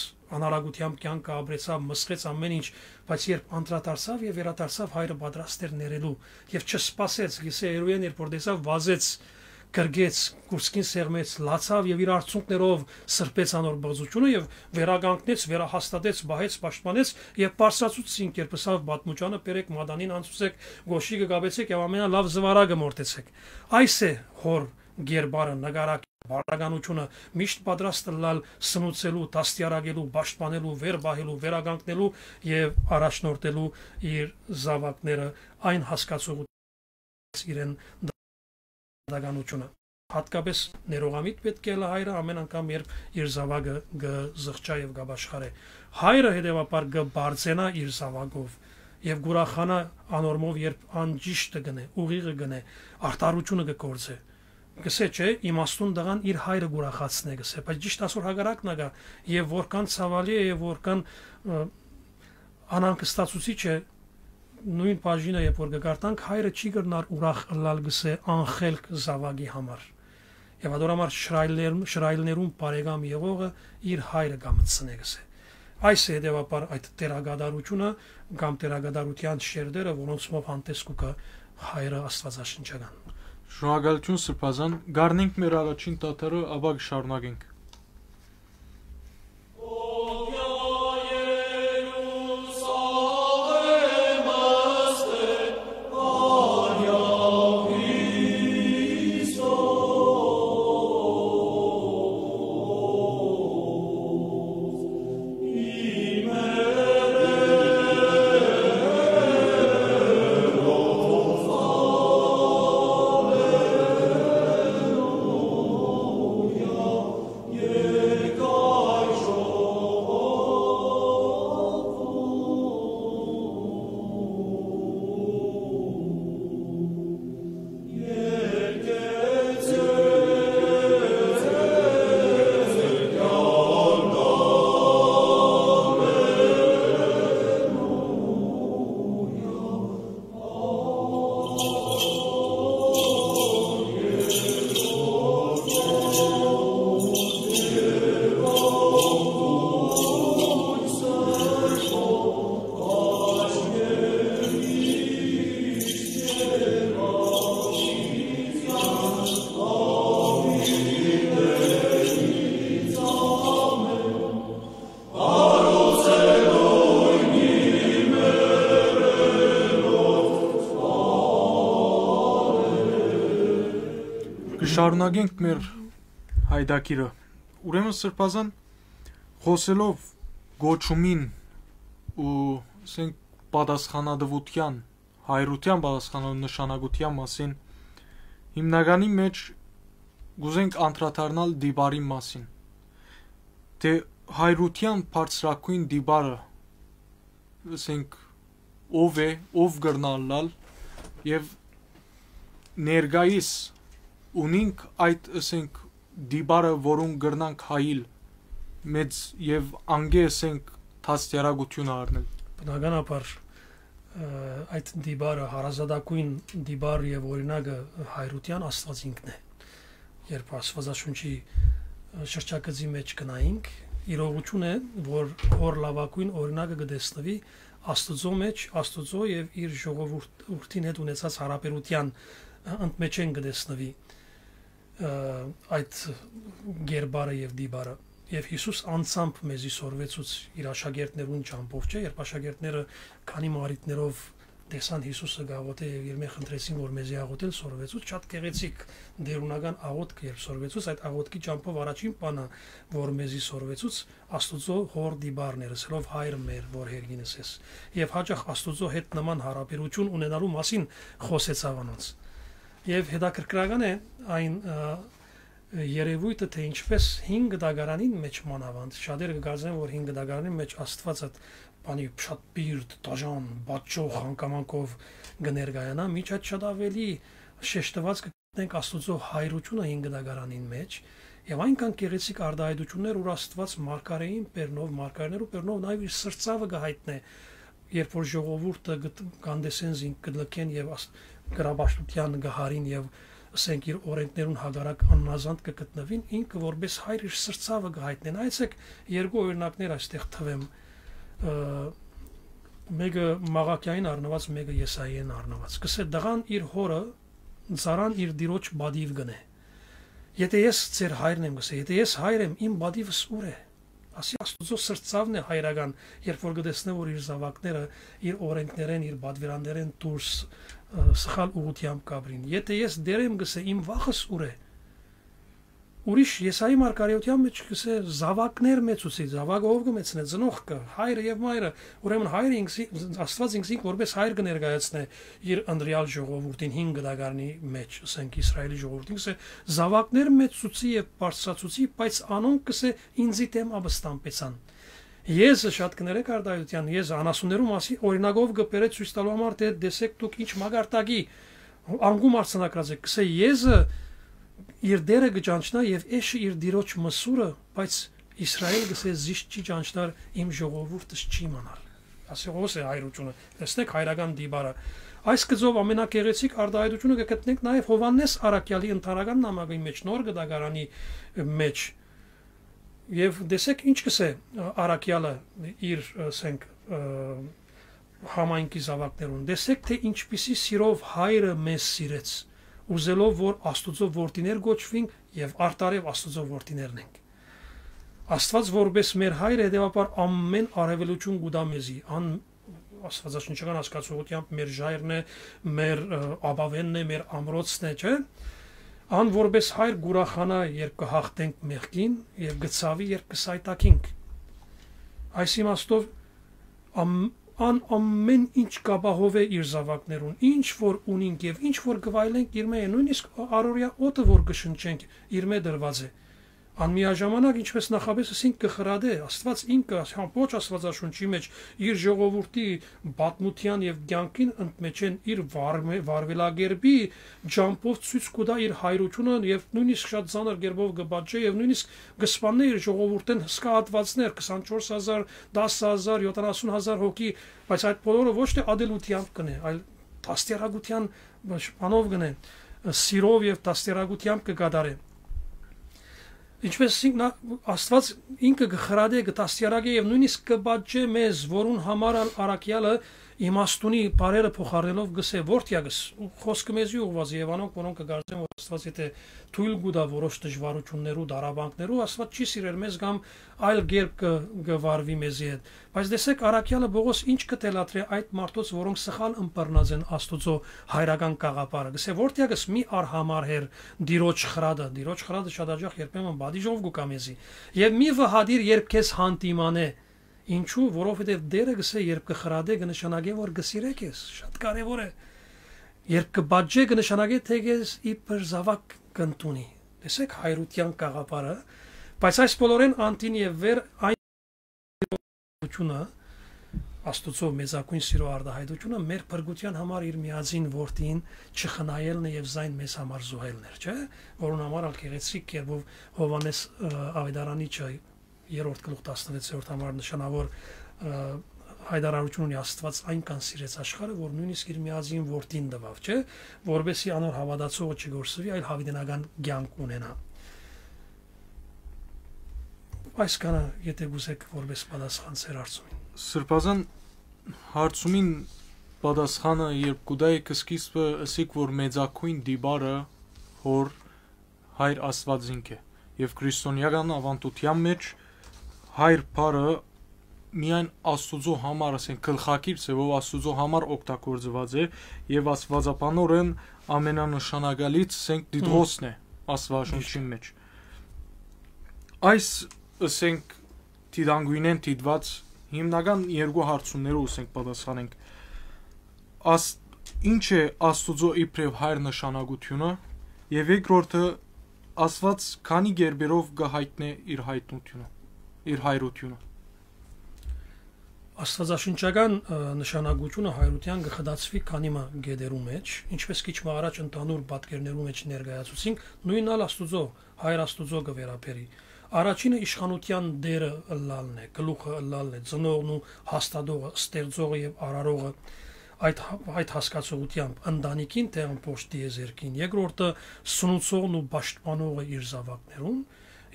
անարագութեամբ կեանքը ապրեցաւ, մսխեց ամեն ինչ, բայց երբ անդրադարձաւ եւ վերադարձաւ, հայրը պատրաստ էր ներելու եւ չսպասեց, գսե երուեն, երբ որ տեսաւ, վազեց, գրկեց, կուրծքին սեղմեց, լացաւ եւ իր արցունքներով սրբեց անոր բղծությունը եւ վերականգնեց, վերահաստատեց, պահեց, պաշտպանեց եւ բարձրացուց զինք, երբ ըսաւ պատմուճանը, «Բերեք մատանին, անցուցեք, գոշիկը կապեցեք եւ ամենալաւ զուարակը մորթեցեք»։ Այս է հոր գերբարը, նկարակ, բարդականությունը, միշտ պատրաստ ըլլալ սնուցելու, դաստիարակելու, պաշտպանելու, վեր պահելու, վերականգնելու եւ առաջնորդելու իր զաւակները այն հասկացողութ իրեն դատականությունը։ Հատկապես ներողամիտ պէտք է ըլլայ հայրը ամեն անգամ, երբ իր զաւակը կը զղջայ եւ կ'ապաշխարէ։ Հայրը հետեւաբար կը բարձենայ իր զաւակով Եւ կ'ուրախանայ անոր մով, երբ ան ճիշդը կ'ընէ, ուղիղը կ'ընէ, արդարութիւնը կը գործէ։ Կ'ըսէ, չէ, իմաստուն տղան իր հայրը կ'ուրախացնէ, կ'ըսէ, բայց ճիշդ ասոր հակառակն ա գա, եւ որքան ցաւալի է, եւ որքան, ը, անհանգստացուցիչ է, նոյն բաժինը, երբ որ կը կարդանք, հայրը չի կրնար ուրախ ըլլալ, կ'ըսէ, անխելք զաւակի համար։ Եւ ատոր համար շրայլներ-, շրայլներուն բարեկամ եղողը իր հայրը կամցնէ, կ'ըսէ։ Այս է հետեւաբար այդ տերակատարութիւնը կամ տերակատարութեան շերտերը, որոնցմով հանդես կու գայ հայրը աստվածաշնչական։ Շնորհակալութիւն, Սրբազան։ Կ'առնենք մեր առաջին թաթարը, ապա կը շարունակենք։ Կը շարունակենք մեր յայտագիրը։ Ուրեմն, Սրբազան, խօսելով կոչումին ու, ասենք, պատասխանատուութեան, հայրութեան պատասխանատու նշանակութեան մասին, հիմնականի մէջ կ'ուզենք անդրադառնալ տիպարին մասին, թէ հայրութեան բարձրագոյն տիպարը, ասենք, ով է, ով կրնայ ըլլալ, եւ ներկայիս ունինք այդ, ասենք, տիպարը, որուն կրնանք հայել մեծ եւ անկէ, ասենք, դաստիարակութիւնը առնել։ Բնականաբար, ը, այդ տիպարը, հարազատագոյն տիպար եւ օրինակը հայրութեան Աստուած ինքն է։ Երբ Աստուածաշունչի, ը, շրջագծի մէջ գնայինք, իրողութիւն է, որ հոր լաւագոյն օրինակը կը տեսնուի Աստուծոյ մէջ, Աստուծոյ եւ իր ժողովուրդ-, ուրդին հետ ունեցած յարաբերութեան, ը, ընդմէջէն կը տեսնուի, ը, այդ կերպարը եւ տիպարը։ Եւ Յիսուս անձամբ մեզի սորվեցուց իր աշակերտներուն ճամբով, չէ՞, երբ աշակերտները քանի մը առիթներով տեսան Յիսուսը կ'աղօթէ եւ իրմէ խնդրեցին, որ մեզի աղօթել սորվեցուց, շատ գեղեցիկ տէրունական աղօթք, երբ սորվեցուց, այդ աղօթքի ճամբով առաջին բանը, որ մեզի սորվեցուց, Աստուծոյ հոր տիպարն էր, ըսելով, «Հայր մեր, որ երկինս ես»։ Եւ հաճախ Աստուծոյ հետ նման յարաբերութիւն ունենալու մասին խօսեցաւ անոնց։ Եւ հետաքրքրական է այն, ը, երեւոյթը, թէ ինչպէս հին կտակարանին մէջ մանաւանդ, շատերը կը կարծեն, որ հին կտակարանին մէջ Աստուած այդ բանի շատ պիրտ, դաժան, պատճող հանգամանքով կը ներկայանայ, մինչ այդ շատ աւելի շեշտուած կը գտնենք Աստուծոյ հայրութիւնը հին կտակարանին մէջ, եւ այնքան գեղեցիկ արտայայտութիւններ, ուր Աստուած մարգարէին բերնով, մարգարէներու բերնով նաեւ իր սրտցաւը կը յայտնէ, երբ որ ժողովուրդը կտ-, կ'անտեսեն զինք, կը լքեն եւ աս-, կրապաշտութեան կը յարին եւ, ասենք, իր օրենքներուն հակառակ աննազանդ կը գտնուին, ինքը որպէս հայր իր սրտցաւը կը յայտնէ։ Նայեցէք, երկու օրինակներ այստեղ թուեմ, ը, մէկը Մաղաքիային առնուած, մէկը Եսայիէն առնուած։ Կ'ըսէ, «Տղան իր հօրը, ծառան իր տիրոջ պատիւ կ'ընէ»։ «Եթէ ես ձեր հայրն եմ», կ'ըսէ, «եթէ ես հայր եմ, իմ պատիվս ո՞ւր է»։ Ասի, Աստուծոյ սրտցաւն է հայրական, երբ որ կը տեսնէ, որ իր զաւակները իր օրենքներէն, իր պատվիրաններէն դուրս, ը, սխալ ուղղութեամբ կ'ապրին։ «Եթէ ես Տեր եմ», կ'ըսէ, «իմ վախս ո՞ւր է»։ Ուրիշ, Եսայի մարգարէութեան մէջ կ'ըսէ, «Զաւակներ մեծուցի», զաւակը ո՞վ կը մեծնէ, ծնողքը, հայրը եւ մայրը։ Ուրեմն հայրը ինքզի-, Աստուած ինքզինք որպէս հայր կը ներկայացնէ իր ընտրեալ ժողովուրդին, հին կտակարանի մէջ, ասենք, Իսրայէլի ժողովուրդին, կ'ըսէ, «Զաւակներ մեծուցի եւ բարձրացուցի, բայց անոնք», կ'ըսէ, «ինծի դէմ ապստամբեցան»։ Եզը շատ կներեք արտահայտութեան, եզը անասուններու մասին օրինակով կը բերէ ցոյց տալու համար, թէ տեսեք դուք ինչ մակարդակի անկում արձանագրած եք, կսէ եզը իր դերը կը ճանչնայ եւ էշը իր դիրոջ մսուրը, բայց Իսրայէլ կսէ զիս չի ճանչնար, իմ ժողովուրդս չի իմանար։ Ասեղոս է հայրությունը, տեսնեք հայրական դիպարը։ Այս գծով ամենակեղեցիկ արտահայտությունը կը գտնենք նաեւ Յովհաննէս Առաքեալի ընդհանրական նամակի մեջ, նոր գտակարանի մեջ։ Եւ տեսեք ինչ կսէ Առաքեալը իր, ասենք, ը, համայնքի զաւակներուն։ Տեսեք թէ ինչպիսի սիրով հայրը մեզ սիրեց, ուզելով որ Աստուծոյ որդիներ կոչուինք եւ արդարեւ Աստուծոյ որդիներն ենք։ Աստուած որպէս մեր հայրը, հետեւաբար ամէն արհեւելիություն կու տայ մեզի, ան աստուածաշնչական հասկացողութեամբ մեր ժայռն է, մեր, ը, ապաւենն է, մեր ամրոցն է, չէ՞։ Ան որպէս հայր կ'ուրախանայ, երբ կը յաղթենք մեղքին, եւ կը ցաւի, երբ կը սայթաքինք։ Այս իմաստով ամ-, ան ամէն ինչ կ'ապահովէ իր զաւակներուն, ինչ որ ունինք եւ ինչ որ կը վայելենք իր մէջ, նոյնիսկ առօրեայ օդը որ կը շնչենք, իր մէջ դրուած է։ Ան միաժամանակ, ինչպես նախապէս ըսինք, կը խրատէ, Աստուած ինքը, ամբողջ Աստուածաշունչի մեջ, իր ժողովուրդի պատմութեան եւ կեանքին ընդմէջէն իր վարմէ-, վարուելակերպի ջամբով ցոյց կու տայ իր հայրութիւնը եւ նոյնիսկ շատ ծանր կերպով կը պատժէ եւ նոյնիսկ կը սպաննէ իր ժողովուրդէն հսկայ հատուածներ, քսանչորս հազար, տասը հազար, յոթանասուն հազար հոգի, բայց այդ բոլորը ոչ թէ ատելութեամբ կ'ընէ, այլ դաստիարակութեան, բանով կ'ընէ, սիրով եւ դաստիարակութեամբ կը կատարէ։ Ինչպես ասինք, նա, Աստուած ինքը կը խրատէ, կը դաստիարակէ եւ նոյնիսկ կը պատժէ մեզ, որուն համար ալ առաքեալը իմաստունի բառերը փոխարինելով կ'ըսէ. «Որդեակս», ու խօսքը մեզի ուղղուած է, եւ անոնք, որոնք կը կարծեն, որ Աստուած եթէ թոյլ կու տայ որոշ դժուարութիւններու, տառապանքներու, Աստուած չի սիրեր մեզ կամ այլ կերպ կը, կը վարուի մեզի հետ։ Բայց տեսեք, առաքեալը Պողոս ինչ կը թելադրէ այդ մարդոց, որոնք սխալ ըմբռնած են Աստուծոյ հայրական գաղափարը։ Կ'ըսէ. «Որդեակս, մի արհամարհեր Տիրոջ խրատը»։ Տիրոջ խրատը շատ հաճախ երբեմն պատիժով կու գայ մեզի։ «Եւ մի վհատիր, երբ քեզ հանդիմանէ»։ Ինչու՞, որովհետեւ Տէրը կ'ըսէ, երբ կը խրատէ, կը նշանակէ, որ կը սիրէ քեզ։ Շատ կարեւոր է։ Երբ կը պատժէ, կը նշանակէ, թէ քեզ իբր զաւակ կ'ընդունի։ Տեսեք հայրութեան գաղափարը, բայց այս բոլորէն անդին եւ վեր այն յուրայնությունը, Աստուծոյ մեծագոյն սիրո արտահայտությունը մեր փրկութեան համար իր միածին որդին չխնայելն է եւ զայն մեզ համար զոհելն էր, չէ՞, որուն համար ալ գեղեցիկ կերպով Յովհաննէս, ը, Աւետարանիչը երրորդ գլուխ տասնվեցերորդ համար նշանաւոր, ը, հայտարարութիւն ունի. «Աստուած այնքան սիրեց աշխարհը, որ նոյնիսկ իր միածին որդին տուաւ», չէ՞, որպեսզի անոր հաւատացողը չկորսուի, այլ յաւիտենական կեանք ունենայ։ Այսքանը, եթէ կ'ուզէք, որպէս պատասխան ձեր հարցումին։ Սրբազան, հարցումին պատասխանը երբ կու տայ, կը սկիզբը ըսիք, որ մեծագոյն տիպարը հոր հայր Աստուածինք է, եւ քրիստոնեական աւանդութեան մեջ հայր բառը միայն Աստուծոյ համար, ասենք, գլխակիր ձեւով Աստուծոյ համար օգտագործուած է, եւ աստուածաբանորեն ամենանշանակալից, ասենք, Տիտղոսն է Աստուածաշունչին մեջ։ Այս, ասենք, դիտանկունեն դիտուած հիմնական երկու հարցումներու, ասենք, պատասխանենք։ Աս-, ինչ է Աստուծոյ իբրեւ հայր նշանակութիւնը, եւ երկրորդը, Աստուած քանի կերպերով կը հայտնէ իր հայտնութիւնը, իր հայրութիւնը։ Աստուածաշնչական, ը, նշանակութիւնը հայրութեան կը խտացուի քանի մը կետերու մեջ, ինչպես քիչ մը առաջ ընդհանուր պատկերներու մեջ ներկայացուցինք, նոյնն ալ Աստուծոյ, հայր Աստուծոյ կը վերաբերի։ Առաջինը իշխանութեան տէրը ըլլալն է, գլուխը ըլլալն է, ծնողն ու հաստատողը, ստեղծողը եւ արարողը, այդ, այդ հասկացողութեամբ, ընտանիքին թէ ամբողջ տիեզերքին, երկրորդը սնուցողն ու պաշտպանողը իր զաւակներուն,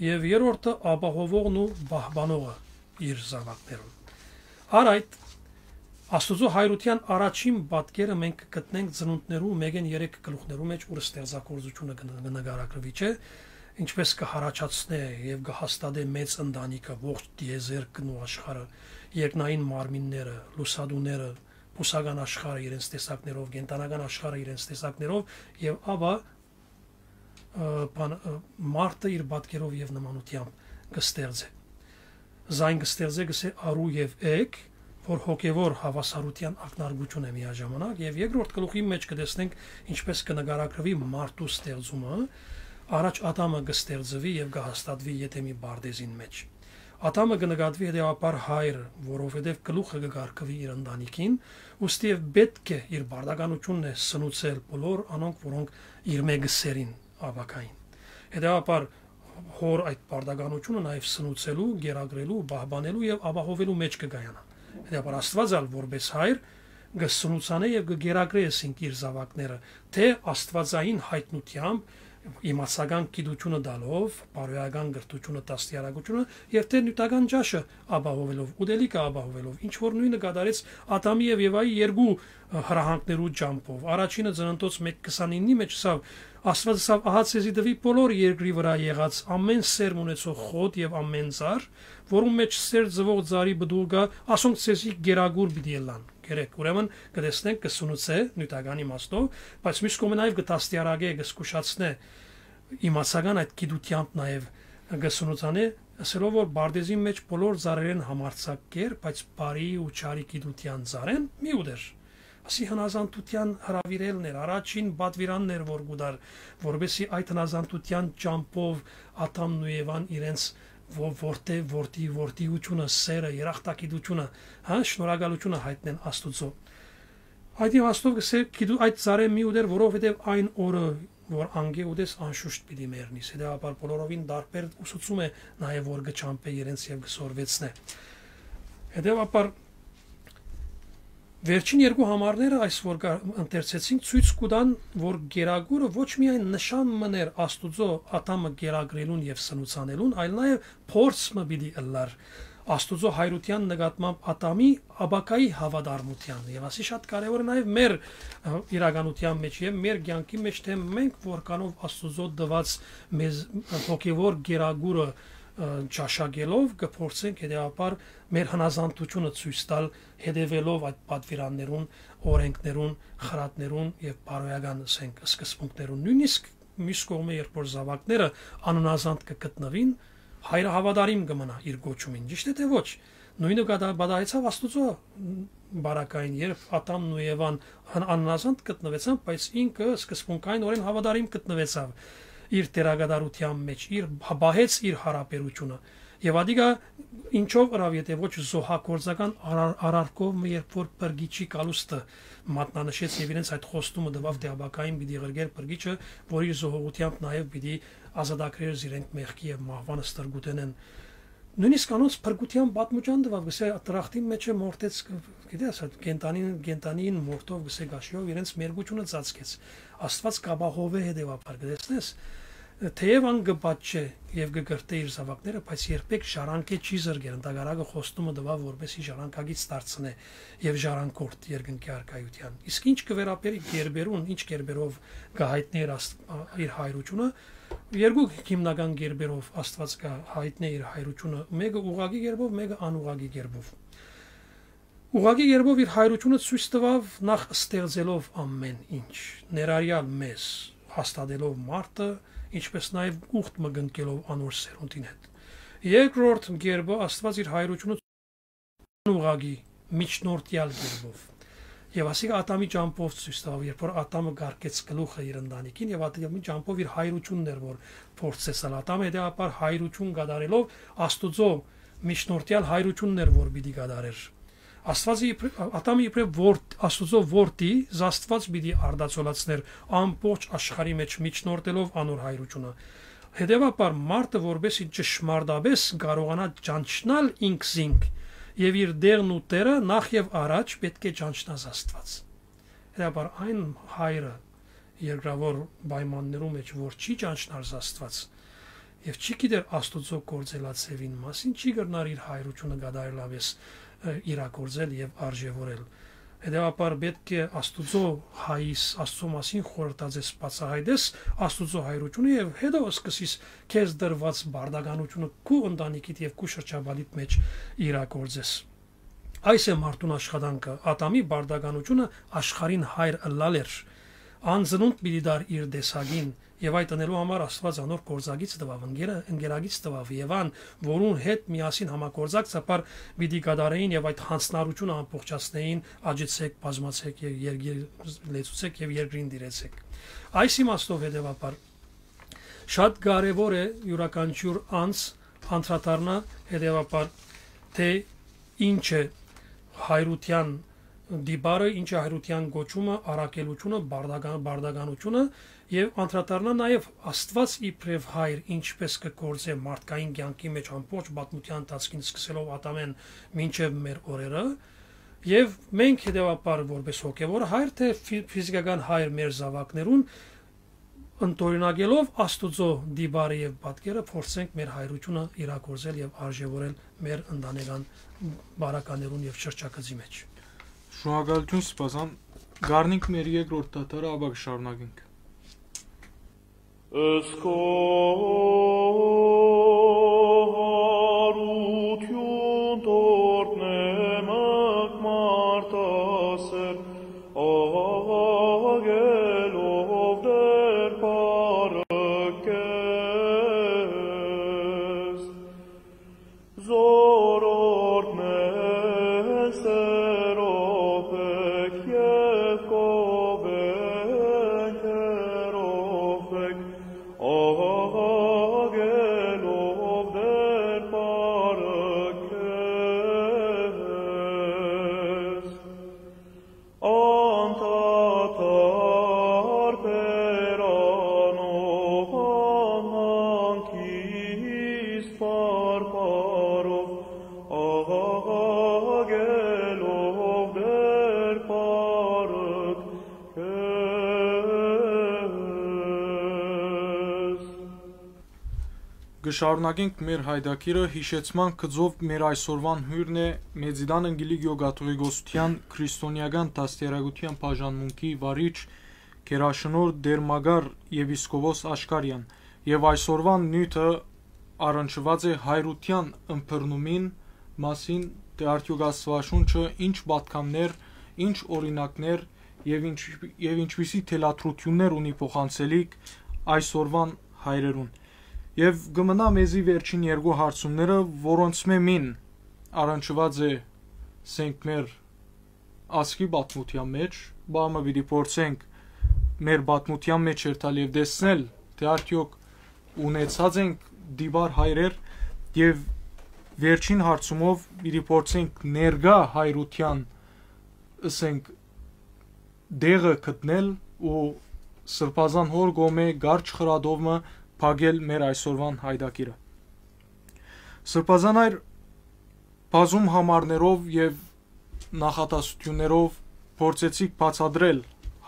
եւ երրորդը ապահովողն ու պահպանողը իր զաւակներուն։ Առ այդ, Աստուծոյ հայրութեան առաջին պատկերը մենք կը գտնենք ծնունդներու մէկէն երեք գլուխներու մեջ, ուր ստեղծագործութիւնը կը, կը նկարագրուի, չէ՞, ինչպես կը յառաջացնէ եւ կը հաստատէ մեծ ընտանիքը, ողջ տիեզերքն ու աշխարհը, երկնային մարմինները, լուսատուները, բուսական աշխարհը իրենց տեսակներով, կենդանական աշխարհը իրենց տեսակներով, եւ ապա, ը, բան, ը, մարդը իր պատկերով եւ նմանութեամբ կը ստեղծէ։ Զայն կը ստեղծէ, կ'ըսէ, արու եւ էգ, որ հոգեվոր հաւասարութեան ակնարկություն է միաժամանակ, եւ երկրորդ գլուխի մեջ կը տեսնենք ինչպես կը նկարագրուի մարդու ստեղծումը, առաջ Ադամը կը ստեղծուի եւ կը հաստատուի Եդեմի պարտէզին մեջ։ Ատամը կը նկատուի հետեւաբար հայրը, որովհետեւ գլուխը կը կարգուի իր ընտանիքին, ուստի եւ պէտք է իր պարտականութիւնն է սնուցել բոլոր անոնք, որոնք իրմէ կը սերին ապագային։ Հետեւաբար հօր այդ պարտականութիւնը նաեւ սնուցելու, կերակրելու, պահպանելու եւ ապահովելու մէջ կը կայանայ։ Հետեւաբար Աստուած ալ որպէս հայր կը սնուցանէ եւ կը կերակրէ, ասենք, իր զաւակները, թէ աստուածային յայտնութեամբ, իմացական գիտութիւնը տալով, բարոյական կրթութիւնը, դաստիարակութիւնը եւ թէ նիւթական ճաշը ապահովելով, ուտելիքը ապահովելով, ինչ որ նոյնը կատարեց Ադամի եւ Եվայի երկու, ը, հրահանգներու ճամբով։ Առաջինը Ծննդոց մէկ քսանիննի մէջ ըսաւ, Աստուած ըսաւ. «Ահա ձեզի տուի բոլոր երկրի վրայ եղած ամէն սերմ ունեցող խոտ եւ ամէն ծառ, որուն մէջ սեր ծուող ծառի պտուղ կայ, ասոնք ձեզի կերակուր պիտի ըլլան»։ Կերեք, ուրեմն կը տեսնենք, կը սնուցէ նիւթական իմաստով, բայց միւս կողմէ նաեւ կը դաստիարակէ, կը զգուշացնէ, իմացական այդ գիտութեամբ նաեւ կը սնուցանէ, ըսելով որ պարտէզին մէջ բոլոր ծառերէն համարձակ կեր, բայց բարի ու չարի գիտութեան ծառէն մի ուտեր։ Ասի հնազանդութեան հրաւիրելն էր, առաջին պատուիրանն էր, որ կու տար, որպեսզի այդ հնազանդութեան ճամբով Ադամն ու Եվան իրենց ո-, որդի, որդի, որդիությունը, սերը, երախտագիտությունը, հա, շնորհակալությունը յայտնեն Աստուծոյ։ Այդ իմաստով կը սեր գիտու այդ ծառէ մի ուտեր, որովհետեւ այն օրը, որ անկէ ուտես, անշուշտ պիտի մեռնիս։ Հետեւաբար բոլորովին տարբեր ուսուցում է նաեւ, որ կը ճամբէ իրենց եւ կը սորվեցնէ։ Հետեւաբար վերջին երկու համարները, այս որ կա-, ընթերցեցինք, ցոյց կու տան, որ կերակուրը ոչ միայն նշան մըն էր Աստուծոյ Ադամը կերակրելուն եւ սնուցանելուն, այլ նաեւ փորձ մը պիտի ըլլար Աստուծոյ հայրութեան նկատմամբ Ադամի ապագայի հաւատարմութեան։ Եւ ասի շատ կարեւոր է նաեւ մեր, ը, իրականութեան մէջ եւ մեր կեանքի մէջ, թէ մենք որքանով Աստուծոյ տուած մեզ հոգեւոր կերակուրը, ը, ճաշակելով կը փորձենք հետեւաբար մեր հնազանդութիւնը ցոյց տալ, հետեւելով այդ պատվիրաններուն, օրենքներուն, խրատներուն եւ բարոյական, ասենք, սկզբունքներուն։ Նոյնիսկ միւս կողմէ, երբ որ զաւակները անհնազանդ կը գտնուին, հայրը հաւատարիմ կը մնայ իր կոչումին, ճիշդ է թէ ոչ։ Նոյնը կա-, պատահեցաւ Աստուծոյ, մ, բարակային, երբ Ադամն ու Եվան հն-, անհնազանդ գտնուեցան, բայց ինքը սկզբունքայինօրէն հաւատարիմ գտնուեցաւ իր դերակատարութեան մէջ, իր, հա-, պահեց իր յարաբերութիւնը։ Եւ ադիկա ինչով ըրաւ, եթէ ոչ զոհագործական արար-, արարքով մը, երբ որ փրկիչի գալուստը մատնանշեց եւ իրենց այդ խոստումը տուաւ, թէ ապագային պիտի ղրկեր փրկիչը, որ իր զոհողութեամբ նաեւ պիտի ազատագրեր զիրենք մեղքի եւ մահուան ստրկութենէն։ Նոյնիսկ անոնց փրկութեան պատմուճան տուաւ, կսե, դրախտին մէջ է մորթեց, գիտես, այդ կենդանին, կենդանին մորթով, կսե, գաշիով իրենց մերկութիւնը ծածկեց։ Աստուած կ'ապահովէ հետեւաբար, կտեսնես, թէեւ ան կը պատժէ եւ կը կրթէ իր զաւակները, բայց երբեք ժառանգէ չի զրկեր, ընդհակառակը խոստումը տուաւ, որպեսզի ժառանգագից դարձնէ եւ ժառանգորդ երկնքի արքայութեան։ Իսկ ինչ կը վերաբերի գերբերուն, ինչ գերբերով կը յայտնի իր Աստղ-, իր հայրությունը, երկու հիմնական գերբերով Աստուած կը յայտնի իր հայրությունը, մէկը ուղղակի գերբով, մէկը անուղղակի գերբով։ Ուղղակի գերբով իր հայրությունը ցոյց տուաւ նախ ստեղծելով ամէն ինչ, ներառյալ մեզ, հաստատելով մարդը, ինչպէս նաեւ ուխտ մը կնքելով անոր սերունդին հետ։ Երկրորդ գերբը Աստուած իր հայրությունը անուղղակի, միջնորդեալ գերբով։ Եւ ասիկա Ադամի ճամբով ցոյց տուաւ, երբ որ Ադամը կարկեց գլուխը իր ընտանիքին եւ Ադամի ճամբով իր հայրությունն էր, որ փորձեց ալ։ Ադամը հետեւաբար հայրություն կատարելով Աստուծոյ միջնորդեալ հայրությունն էր, որ պիտի կատարեր։ Աստուածը իբր-, Ադամը իբրեւ որդի, Աստուծոյ որդի, զաստուած պիտի արտացոլացներ ամբողջ աշխարհի մէջ, միջնորդելով անոր հայրությունը։ Հետեւաբար մարդը, որպեսզի ճշմարտապէս կարողանայ ճանչնալ ինքզինք եւ իր տեղն ու Տէրը, նախ եւ առաջ պէտք է ճանչնայ զաստուած։ Հետեւաբար այն հայրը երկրաւոր պայմաններու մէջ, որ չի ճանչնար զաստուած եւ չի գիտեր Աստուծոյ գործելաձեւին մասին, չի կրնար իր հայրությունը կատարելապէս, ը, իրագործել եւ արժեւորել։ Հետեւաբար պէտք է Աստուծոյ հայրս, Աստուծոյ մասին խորհրդածես, բացայայտես Աստուծոյ հայրությունը եւ հետո սկսես քեզ տրուած պարտականությունը քու ընտանիքիդ եւ քու շրջապատիդ մէջ իրագործես։ Այս է մարդուն աշխատանքը, Ադամի պարտականությունը աշխարհին հայր ըլլալ էր։ Ան ծնունդ պիտի տար իր տեսակին, եւ այդ ընելու համար Աստուած անոր գործակից տուաւ, ընկերը-, ընկերակից տուաւ, Եվան, որուն հետ միասին համագործակցաբար պիտի կատարեին եւ այդ յանձնառությունը ամբողջացնեին, «Աջեցեք, բազմացեք եւ երկիր լեցուցեք եւ երկրին տիրեցեք»։ Այս իմաստով հետեւաբար շատ կարեւոր է յուրաքանչյուր անձ Անդրադառնայ հետեւաբար, թէ ինչ է հայրութեան տիպարը, ինչ է հայրութեան կոչումը, առաքելութիւնը, բարդական-, բարդականութիւնը, եւ անդրադառնայ նաեւ Աստուած իբրեւ հայր ինչպէս կը գործէ մարդկային կեանքի մէջ ամբողջ պատմութեան ընթացքին, սկսելով Ադամէն մինչեւ մեր օրերը, եւ մենք հետեւաբար որպէս հոգեւոր հայր, թէ ֆի-, ֆիզիկական հայր մեր զաւակներուն, ընդօրինակելով Աստուծոյ տիպարը եւ պատկերը, փորձենք մեր հայրութիւնը իրագործել եւ արժեւորել մեր ընտանեկան բարականերուն եւ շրջագծի մէջ։ Շնորհակալութիւն, Սպասան։ Կառնենք մեր երկրորդ դադարը, ապա կը շարունակենք։ Ըսկո հարութիւն տորտնեմ մարդասեր, աղաղակելով Տէր պարը քեզ։ Զորօրդ մե սերով եք եւ կովենք հերով եք, աղաղակելով Տէր պարը քեզ։ Անդադար բերանով անհանգիստ բարբառով, աղաղակելով Տէր պարը քեզ։ Կը շարունակենք մեր յայտագիրը, յիշեցման գծով մեր այսօրուան հիւրն է Մեծիդան Ընկիլիկիո կաթողիկոսության քրիստոնեական դաստիարակութեան բաժանմունքի վարիչ գերաշնորհ Տէր Մակար եպիսկոպոս Աշկարեան, եւ այսօրուան նիւթը առնչուած է հայրութեան ըմբռնումին մասին, թէ արդեօք Աստուածաշունչը ինչ պատգամներ, ինչ օրինակներ եւ ինչ, եւ ինչպիսի թելադրութիւններ ունի փոխանցելիք այսօրուան հայրերուն։ Եւ կը մնայ մեզի վերջին երկու հարցումները, որոնցմէ մին առնչուած է, սենք, մեր ազգի պատմութեան մէջ, բա մը պիտի փորձենք մեր պատմութեան մէջ երթալ եւ տեսնել, թէ արդեօք ունեցած ենք տիպար հայրեր, եւ վերջին հարցումով պիտի փորձենք ներկայ հայրութեան, ըսենք, տեղը գտնել ու Սրբազան հօր կողմէ կարճ խրատով մը փակել մեր այսօրուան յայտագիրը։ Սրբազան հայր, բազում համարներով եւ նախադասութիւններով փորձեցիք բացատրել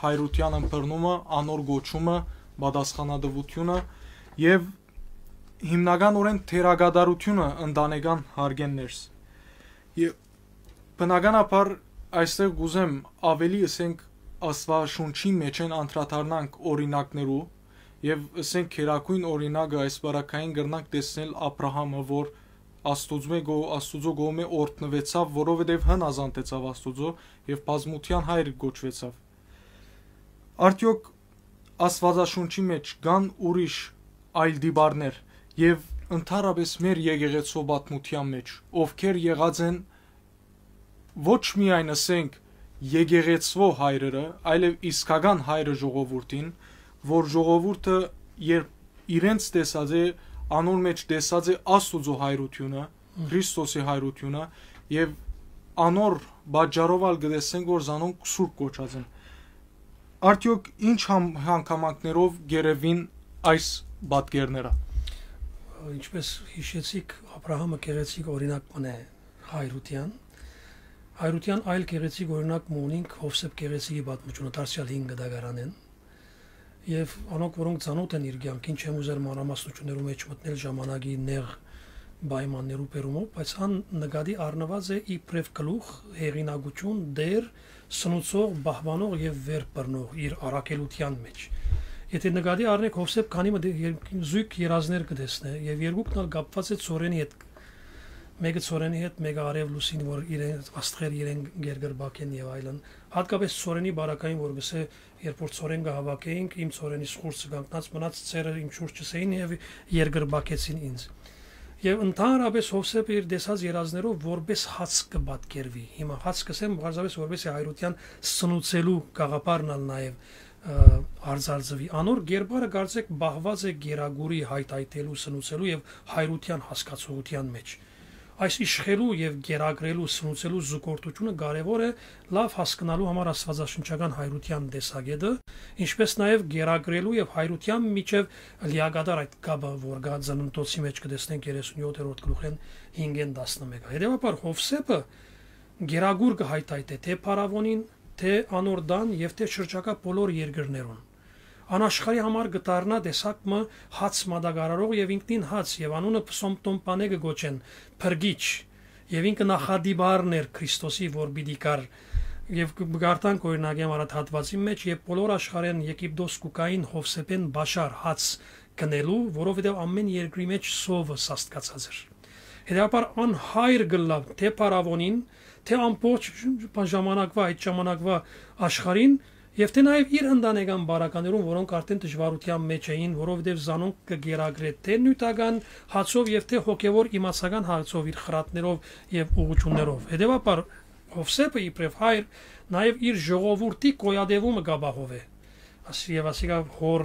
հայրութեան ըմբռնումը, անոր կոչումը, պատասխանատուութիւնը եւ հիմնականօրէն թերակատարութիւնը ընտանեկան հարկէն ներս։ Եւ բնականաբար այստեղ կ'ուզեմ աւելի, ըսենք, Աստուածաշունչի մէջէն անդրադառնանք օրինակներու, եւ, ըսենք, գերագոյն օրինակը այս պարագային կրնանք տեսնել Աբրահամը, որ Աստուծմէ գո-, Աստուծոյ կողմէ օրհնուեցաւ, որովհետեւ հնազանդեցաւ Աստուծոյ եւ բազմութեան հայր կոչուեցաւ։ Արդեօք Աստուածաշունչի մէջ կան ուրիշ այլ տիպարներ եւ ընդհանրապէս մեր եկեղեցու պատմութեան մէջ, ովքեր եղած են ոչ միայն, ըսենք, եկեղեցու հայրերը, այլեւ իսկական հայրը ժողովուրդին, որ ժողովուրդը, երբ իրենց տեսած է, անոր մէջ տեսած է Աստուծոյ հայրութիւնը, Քրիստոսի հայրութիւնը, եւ անոր պատճառով ալ կը տեսնենք, որ զանոնք սուրբ կոչած են։ Արդեօք ինչ համ-, հանգամանքներով կ'երեւին այս պատկերները։ Ինչպես յիշեցիք, Աբրահամը գեղեցիկ օրինակ մը է հայրութեան։ Հայրութեան այլ գեղեցիկ օրինակ մը ունինք Յովսէփ գեղեցիկի պատմութիւնը, դարձեալ հին կտակարանէն։ Եւ անոնք, որոնք ծանօթ են իր կեանքին, չեմ ուզեր մանրամասնութիւններու մէջ մտնել ժամանակի նեղ պայմաններու բերումով, բայց ան նկատի առնուած է իբրեւ գլուխ, հեղինակութիւն, տէր, սնուցող, պահպանող եւ վեր բռնող իր առաքելութեան մէջ։ Եթէ նկատի առնենք, Յովսէփ քանի մը դե-, եր-, զոյգ երազներ կը տեսնէ, եւ երկուքն ալ կապուած է ցորենի հետ։ Մէկը ցորենի հետ, մէկը արեւ լուսին, որ իրեն, աստղեր իրեն կերկրպագեն եւ այլն։ Յատկապէս ցորենի պարագային, որ կ'ըսէ, երբ որ ցորեն կը հաւաքէինք, իմ ցորենիս խուրձը կանգնած մնաց, ցերը իմ շուրջս էին եւ երկրպագեցին ինձ։ Եւ ընդհանրապէս Յովսէփը իր տեսած երազներով որպէս հաց կը պատկերուի։ Հիմա հաց կ'ըսեմ, պարզապէս որպէս հայրութեան սնուցելու գաղափարն ալ նաեւ, արծարծուի։ Անոր գերբարը կարծեք պահուած է գերագուրի հայթայթելու, սնուցելու եւ հայրութեան հասկացողութեան մէջ։ Այս իշխելու եւ գերագրելու, սնուցելու զուգորդությունը կարեւոր է լաւ հասկնալու համար աստվածաշնչական հայրութեան տեսակէտը, ինչպէս նաեւ գերագրելու եւ հայրութեան միջեւ լիակատար այդ կապը, որ կա ծննդոցի մէջ, կը տեսնենք երեսունյոթերորդ գլուխէն հինգէն տասնմէկը։ Հետեւաբար Յովսէփը գերագուր կը հայթայթէ թէ փարաւոնին, թէ անոր տան եւ թէ շրջակայ բոլոր երկրներուն։ Անաշխարհի համար կը դառնայ տեսակ մը հաց մատակարարող եւ ինքնին հաց, եւ անունը Փսոմտոմպանէ կը կոչեն, փրկիչ, եւ ինքը նախատիպարն էր Քրիստոսի, որ պիտի գար։ Եւ կը-, կը կարդանք, օրինակի համար, այդ հատուածին մէջ, երբ բոլոր աշխարհէն Եգիպտոս կու գային Յովսէփէն պաշար, հաց գնելու, որովհետեւ ամէն երկրի մէջ սովը սաստկացած էր։ Հետեւաբար անհայր կ'ըլլայ թէ փարաւոնին, թէ ամբողջ ժամանակվայ, այդ ժամանակվայ աշխարհին, եւ թէ նաեւ իր ընտանեկան բարականերուն, որոնք արդեն դժուարութեան մէջ էին, որովհետեւ զանոնք կը գերագրէ թէ նիւթական հացով եւ թէ հոգեւոր իմացական հացով, իր խրատներով եւ ուղղութիւններով։ Հետեւաբար Յովսէփը իբրեւ հայր նաեւ իր ժողովուրդի գոյատեւումը կ'ապահովէ։ Աս-, եւ ասիկա հոր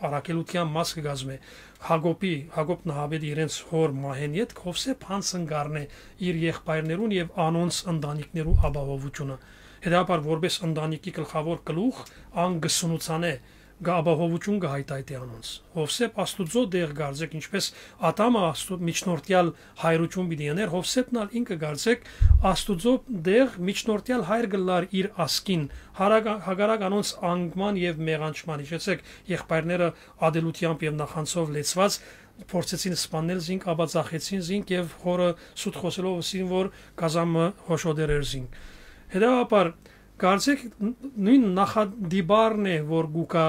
առաքելութեան մաս կը կազմէ։ Յակոբի, Յակոբ նահապետի իրենց հոր մահէն ետք Յովսէփ յանձն կ'առնէ իր եղբայրներուն եւ անոնց ընտանիքներու ապահովութիւնը։ Հետեւաբար, որպէս ընտանիքի գլխաւոր գլուխ, ան կը սնուցանէ, կը ապահովութիւն կը հայթայթէ անոնց։ Յովսէփ Աստուծոյ տեղ կարծեք, ինչպէս Ադամը Աստու-, միջնորդեալ հայրութիւն պիտի ընէր, Յովսէփն ալ ինքը կարծեք Աստուծոյ տեղ միջնորդեալ հայր կ'ըլլար իր ազգին, հարագ-, հակառակ անոնց անկման եւ մեղանչման։ Հիշեցեք, եղբայրները ատելութեամբ եւ նախանձով լեցուած փորձեցին սպաննել զինք, ապա ծախեցին զինք եւ հորը սուտ խօսելով ըսին, որ կազանը հոշոտեր էր զինք։ Հետեւաբար, կարծեք ն-, նոյն նախատիպարն է, որ կու գայ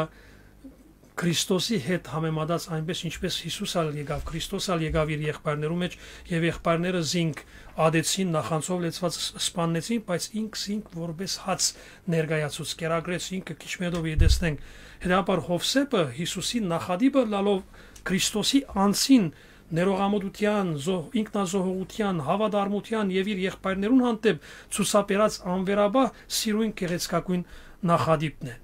Քրիստոսի հետ համեմատած, այնպես ինչպես Յիսուս ալ եկաւ, Քրիստոս ալ եկաւ իր եղբայրներու մէջ, եւ եղբայրները զինք ատեցին, նախանձով լեցուած ս-, սպաննեցին, բայց ինք զինք որպես հաց ներկայացուց, կերակրեց ինքը, քիչ մը յետոյ պիտի տեսնենք։ Հետեւաբար Յովսէփը Յիսուսի նախատիպը ըլլալով Քրիստոսի անձին ներողամտության, զոհ-, ինքնազոհողության, հաւատարմութեան եւ իր եղբայրներուն հանդէպ ցուցաբերած անվերապահ սիրոյն գեղեցկագոյն նախատիպն է։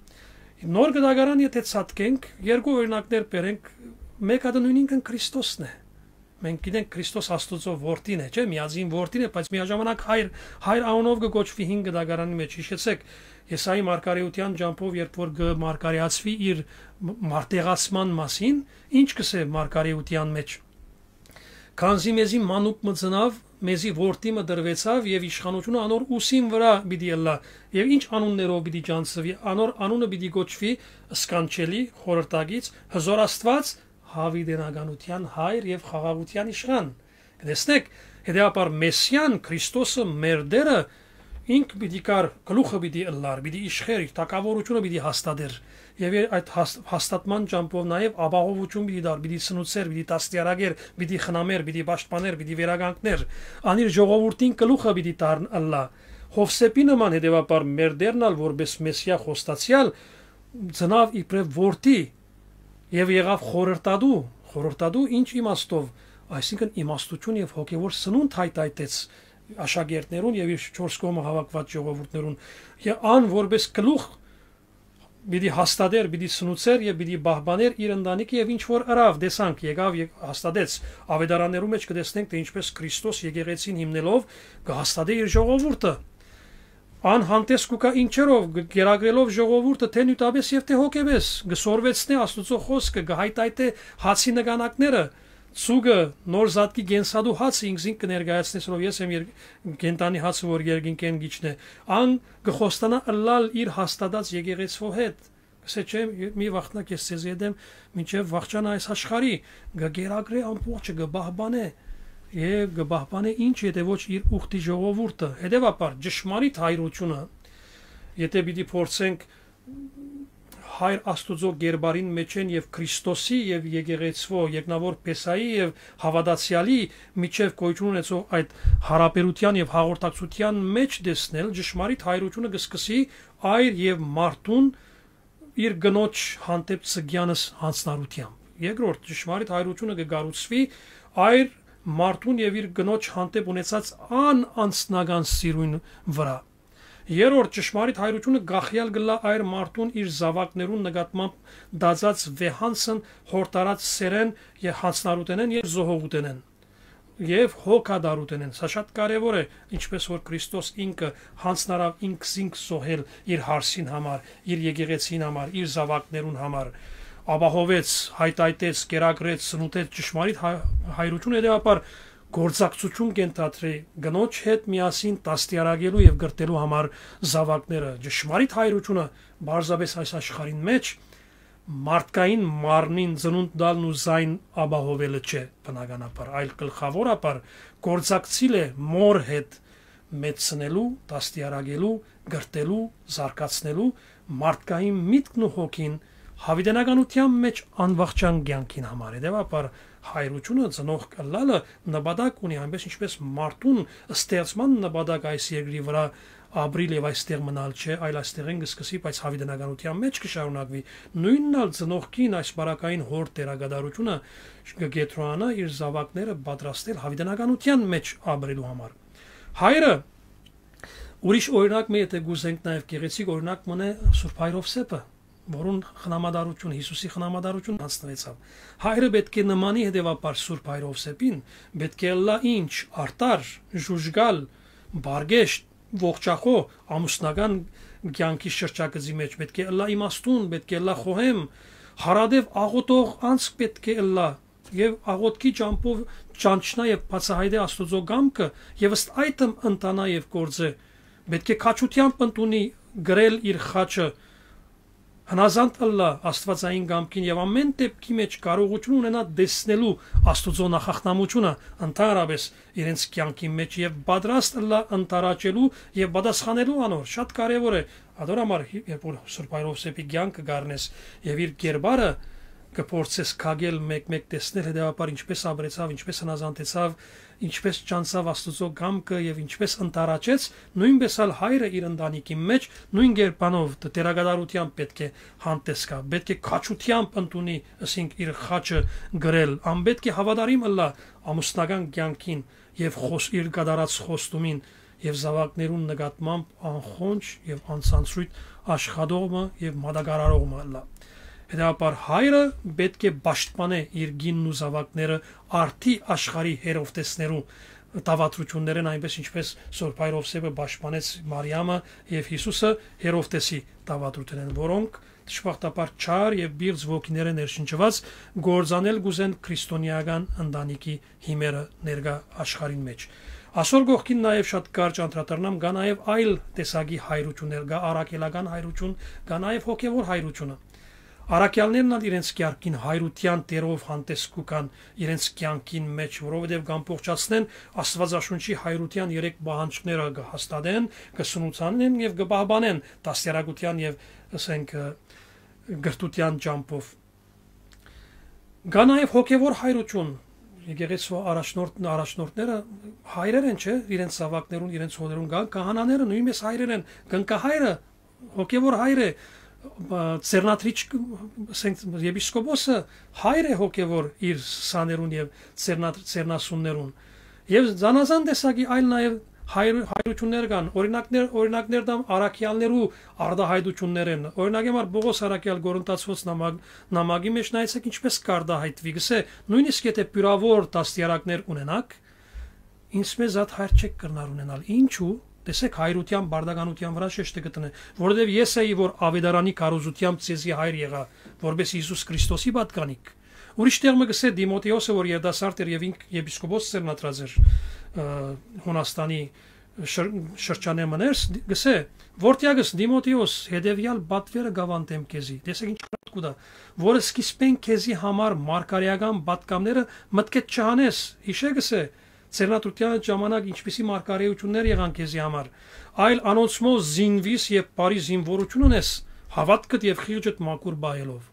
Նոր Կտակարան, եթե ցատկենք, երկու օրինակներ բերենք, մէկ հատը նոյնինքն Քրիստոսն է։ Մենք գիտենք Քրիստոս Աստուծոյ որդին է, չէ՞, միածին որդին է, բայց միաժամանակ հայր, հայր անունով կը կոչուի Հին Կտակարանի մէջ։ Հիշեցեք, Եսայի մարգարէութեան ճամբով, երբ որ կը մարգարէացուի իր մ-, մարտեղացման մասին, ինչ կ'ըսէ մարգարէութեան մէջ. «Քանզի մեզի մանուկ մը ծնաւ, մեզի որդի մը տրուեցաւ եւ իշխանութիւնը անոր ուսին վրայ պիտի ըլլայ, եւ ինչ անուններով պիտի ճանչցուի, անոր անունը պիտի կոչուի Սքանչելի, Խորհրդակից, Հզոր Աստուած, Յաւիտենականութեան Հայր եւ Խաղաղութեան Իշխան»։ Կտեսնեք, հետեւաբար Մեսիան, Քրիստոսը, մեր Տէրը, ինք պիտի գար, գլուխը պիտի ըլլար, պիտի իշխէր, իր թագաւորութիւնը պիտի հաստատէր, եւ իր այդ հաս-, հաստատման ճամբով նաեւ ապահովութիւն պիտի տար, պիտի սնուցէր, պիտի դաստիարակէր, պիտի խնամէր, պիտի պաշտպանէր, պիտի վերականգնէր, ան իր ժողովուրդին գլուխը պիտի դառն ըլլայ։ Յովսէփի նման, հետեւաբար, մեր Տէրն ալ որպես Մեսիա խոստացեալ ծնաւ իբրեւ որդի եւ եղաւ խորհրդատու։ Խորհրդատու ինչ իմաստով, այսինքն իմաստութիւն եւ հոգեւոր սնունդ հայթայթեց աշակերտներուն եւ իր չորս կողմը հաւաքուած ժողովուրդներուն, եւ ան որպես գլուխ պիտի հաստատէր, պիտի սնուցէր եւ պիտի պահպանէր իր ընտանիքը, եւ ինչ որ ըրաւ, տեսանք, եկաւ եւ հաստատեց։ Ավետարաններու մէջ կտեսնենք, թէ ինչպես Քրիստոս եկեղեցին հիմնելով կը հաստատէ իր ժողովուրդը։ Ան հանդես կու գայ ինչերով, գ-, կերակրելով ժողովուրդը թէ նիւթապէս եւ թէ հոգեպէս, կը սորվեցնէ Աստուծոյ խօսքը, կը հայթայթէ հացի նկանակները, ծուկը, նոր զատկի կենսատու հացը ինքզինք կը ներկայացնէ, սրով ես եմ եր-, կենդանի հացը, որ երկնքէն կ'իջնէ։ Ան կը խոստանայ ըլլալ իր հաստատած եկեղեցւոյ հետ։ Կ'ըսէ, չէ, մի վախնա, ես ձեզի հետ եմ, մինչեւ վախճանը այս աշխարհի, կը կերակրէ ամբողջը, կը պահպանէ, եւ կը պահպանէ ինչ, եթե ոչ իր ուխտի ժողովուրդը։ Հետեւաբար, ճշմարիտ հայրությունը, եթե պիտի փորձենք Հայր Աստուծոյ կերպարին մէջէն եւ Քրիստոսի եւ եկեղեցւոյ, երկնաւոր Փեսայի եւ հաւատացեալի միջեւ գոյութիւն ունեցող այդ յարաբերութեան եւ հաղորդակցութեան մէջ տեսնել, ճշմարիտ հայրությունը կը սկսի այր եւ մարդուն իր կնոջ հանդէպ ձկեանս յանձնառութեամբ։ Երկրորդ, ճշմարիտ հայրությունը կը կառուցուի այր մարդուն եւ իր կնոջ հանդէպ ունեցած անանձնական սիրուն վրայ։ Երրորդ, ճշմարիտ հայրությունը կախեալ կ'ըլլայ այր մարդուն իր զաւակներուն նկատմամբ տածած վեհանցն, յորդարած սէրէն եւ յանցնառութենէն եւ զոհողութենէն։ Եւ հոգատարութենէն։ Սա շատ կարեւոր է, ինչպես որ Քրիստոս ինքը յանցնարաւ ինքզինք զոհել իր հարսին համար, իր եկեղեցին համար, իր զաւակներուն համար, ապահովեց, հայտայտեց, կերակրեց, ծնուտեց ճշմարիտ հայ-, հայրություն, հետեւաբար գործակցություն կ'ընտրի կնոջ հետ միասին դաստիարակելու եւ կրթելու համար զաւակները։ Ճշմարիտ հայրությունը պարզապէս այս աշխարհին մէջ մարդկային մարմնին ծնունդ տալն ու զայն ապահովելը չէ, բնականաբար, այլ գլխաւորաբար գործակցիլ է մօր հետ մեծցնելու, դաստիարակելու, կրթելու, զարգացնելու մարդկային միտքն ու հոգին յաւիտենականութեան մէջ անվախճան կեանքին համար։ Հետեւաբար հայրությունը, ծնող ըլլալը նպատակ ունի, այնպես ինչպես մարդուն ստեղծման նպատակ այս երկրի վրայ ապրիլ եւ այստեղ մնալ չէ, այլ այստեղէն կը սկսի, բայց յաւիտենականութեան մէջ կը շարունակուի։ Նոյնն ալ ծնողքին այս բարակային հոր դերակատարությունը կը կեդրոանայ իր զաւակները պատրաստել յաւիտենականութեան մէջ ապրելու համար։ Հայրը, ուրիշ օրինակ մը, եթէ կ'ուզենք, նաեւ գեղեցիկ օրինակ մնայ Սուրբ Հայր Ովսէփը, որուն խնամատարություն, Յիսուսի խնամատարություն յանձնուեցաւ։ Հայրը պէտք է նմանի հետեւաբար Սուրբ Հայր Ովսէփին, պէտք է ըլլայ ինչ, արդար, ժուժկալ, բարգեշտ, ողջախոհ, ամուսնական կեանքի շրջագծի մէջ պէտք է ըլլայ իմաստուն, պէտք է ըլլայ խոհեմ, յարատեւ աղօթող անձ պէտք է ըլլայ եւ աղօթքի ճամբով ճանչնայ եւ բացայայտէ Աստուծոյ կամքը եւ ըստ այդմ ընթանայ եւ գործէ։ Պէտք է քաջութեամբ ընդունի գրել իր խաչը, հնազանդ ըլլայ Աստուածային կամքին եւ ամէն դեպքի մէջ կարողութիւն ունենայ տեսնելու Աստուծոյ նախախնամութիւնը ընդհանրապէս իրենց կեանքին մէջ եւ պատրաստ ըլլայ ընդառաջելու եւ պատասխանելու անոր։ Շատ կարեւոր է, ատոր համար հի-, երբ որ Սուրբ Հայր Ովսէփի կեանքը կ'առնես եւ իր կերպարը կը փորձես քակել, մեկ-մեկ տեսնել, հետեւաբար ինչպես ապրեցաւ, ինչպես հնազանդեցաւ, ինչպես ճանչցաւ Աստուծոյ կամքը եւ ինչպես ընդառաջեց, նոյնպէս ալ հայրը իր ընտանիքին մէջ նոյն կերպանով դ-, դերակատարութեամբ պէտք է հանդես գայ, պէտք է քաջութեամբ ընդունի, ասենք, իր խաչը գրել, անպէտք է հաւատարիմ ըլլայ ամուսնական կեանքին եւ խոս-, իր կատարած խոստումին եւ զաւակներուն նկատմամբ անխոնջ եւ անցանցրոյթ աշխատող մը եւ մատակարարող մը ըլլայ։ Հետեւաբար հայրը պէտք է պաշտպանէ իր կինն ու զաւակները արդի աշխարհի Հերովտեսներու դաւադրութիւններէն, այնպես ինչպես Սուրբ Հայր Ովսէփը պաշտպանեց Մարիամը եւ Յիսուսը Հերովտեսի դաւադրութենէն, որոնք դժբախտաբար չար եւ պիղծ ոգիներէ ներշնչուած կործանել կ'ուզեն քրիստոնէական ընտանիքի հիմերը ներկայ աշխարհին մէջ։ Ասոր կողքին նաեւ շատ կարճ անդրադառնամ, կայ նաեւ այլ տեսակի հայրություններ, կայ առաքելական հայրություն, կայ նաեւ հոգեւոր հայրությունը։ Առաքյալներն ալ իրենց կեանքին հայրութեան դերով հանդես կու գան իրենց կեանքին մէջ, որովհետեւ կ'ամբողջացնեն Աստուածաշունչի հայրութեան երեք պահանջները, կը հաստատեն, կը սնուցանեն եւ կը պահպանեն դաստիարակութեան եւ, ըսենք, կրթութեան ճամբով։ Կայ նաեւ հոգեւոր հայրություն, եկեղեցու առաջնորդ-, առաջնորդները հայրեր են, չէ՞, իրենց զաւակներուն, իրենց հօրերուն կան, քահանաները նոյնպես հայրեր են, կնքահայրը հոգեւոր հայր է, բա, ծերնադրիչ, ասենք, եպիսկոպոսը հայր է հոգեւոր իր սաներուն եւ ծերնա-, ծերնասուններուն։ Եւ զանազան տեսակի այլ նաեւ հայր-, հայրություններ կան, օրինակներ, օրինակներ դամ առաքյալներու արտահայտություններ են։ Օրինակ համար Պողոս առաքյալ Կորինթացիոց նամակ-, նամակի մէջ նայեցեք ինչպես կարտահայտուի, գսէ, նոյնիսկ եթէ պիւրաւոր դաստիարակներ ունենաք, ինձ մեզ ատ հայր չեք կրնար ունենալ։ Ինչու՞, տեսեք, հայրութեան բարդականութեան վրայ շեշտը կը տնէ, որովհետեւ ես էի, որ աւետարանի քարոզութեամբ ձեզի հայր եղայ, որպէս Յիսուս Քրիստոսի պատկանիք։ Ուրիշ տեղ մը գսէ Տիմոթեոսը, որ երիտասարդ էր եւ ինք եպիսկոպոս ծերնադրած էր, ը, Հունաստանի շր-, շրջանէ մը ներս, գսէ, «Որդեակս Տիմոթեոս, հետեւեալ պատվերը կ'աւանդեմ քեզի»։ Տեսեք ինչ կրած կուտայ, որ սկիզբէն քեզի համար մարգարէական պատգամները մտքեդ չհանես, յիշե, գսէ, ծերնադրութեան ժամանակ ինչպիսի մարգարէություններ եղան քեզի համար, այլ անոնցմով զինուիս եւ բարի զինուորութիւն ունես, հաւատքդ եւ խիղճդ մաքուր պահելով։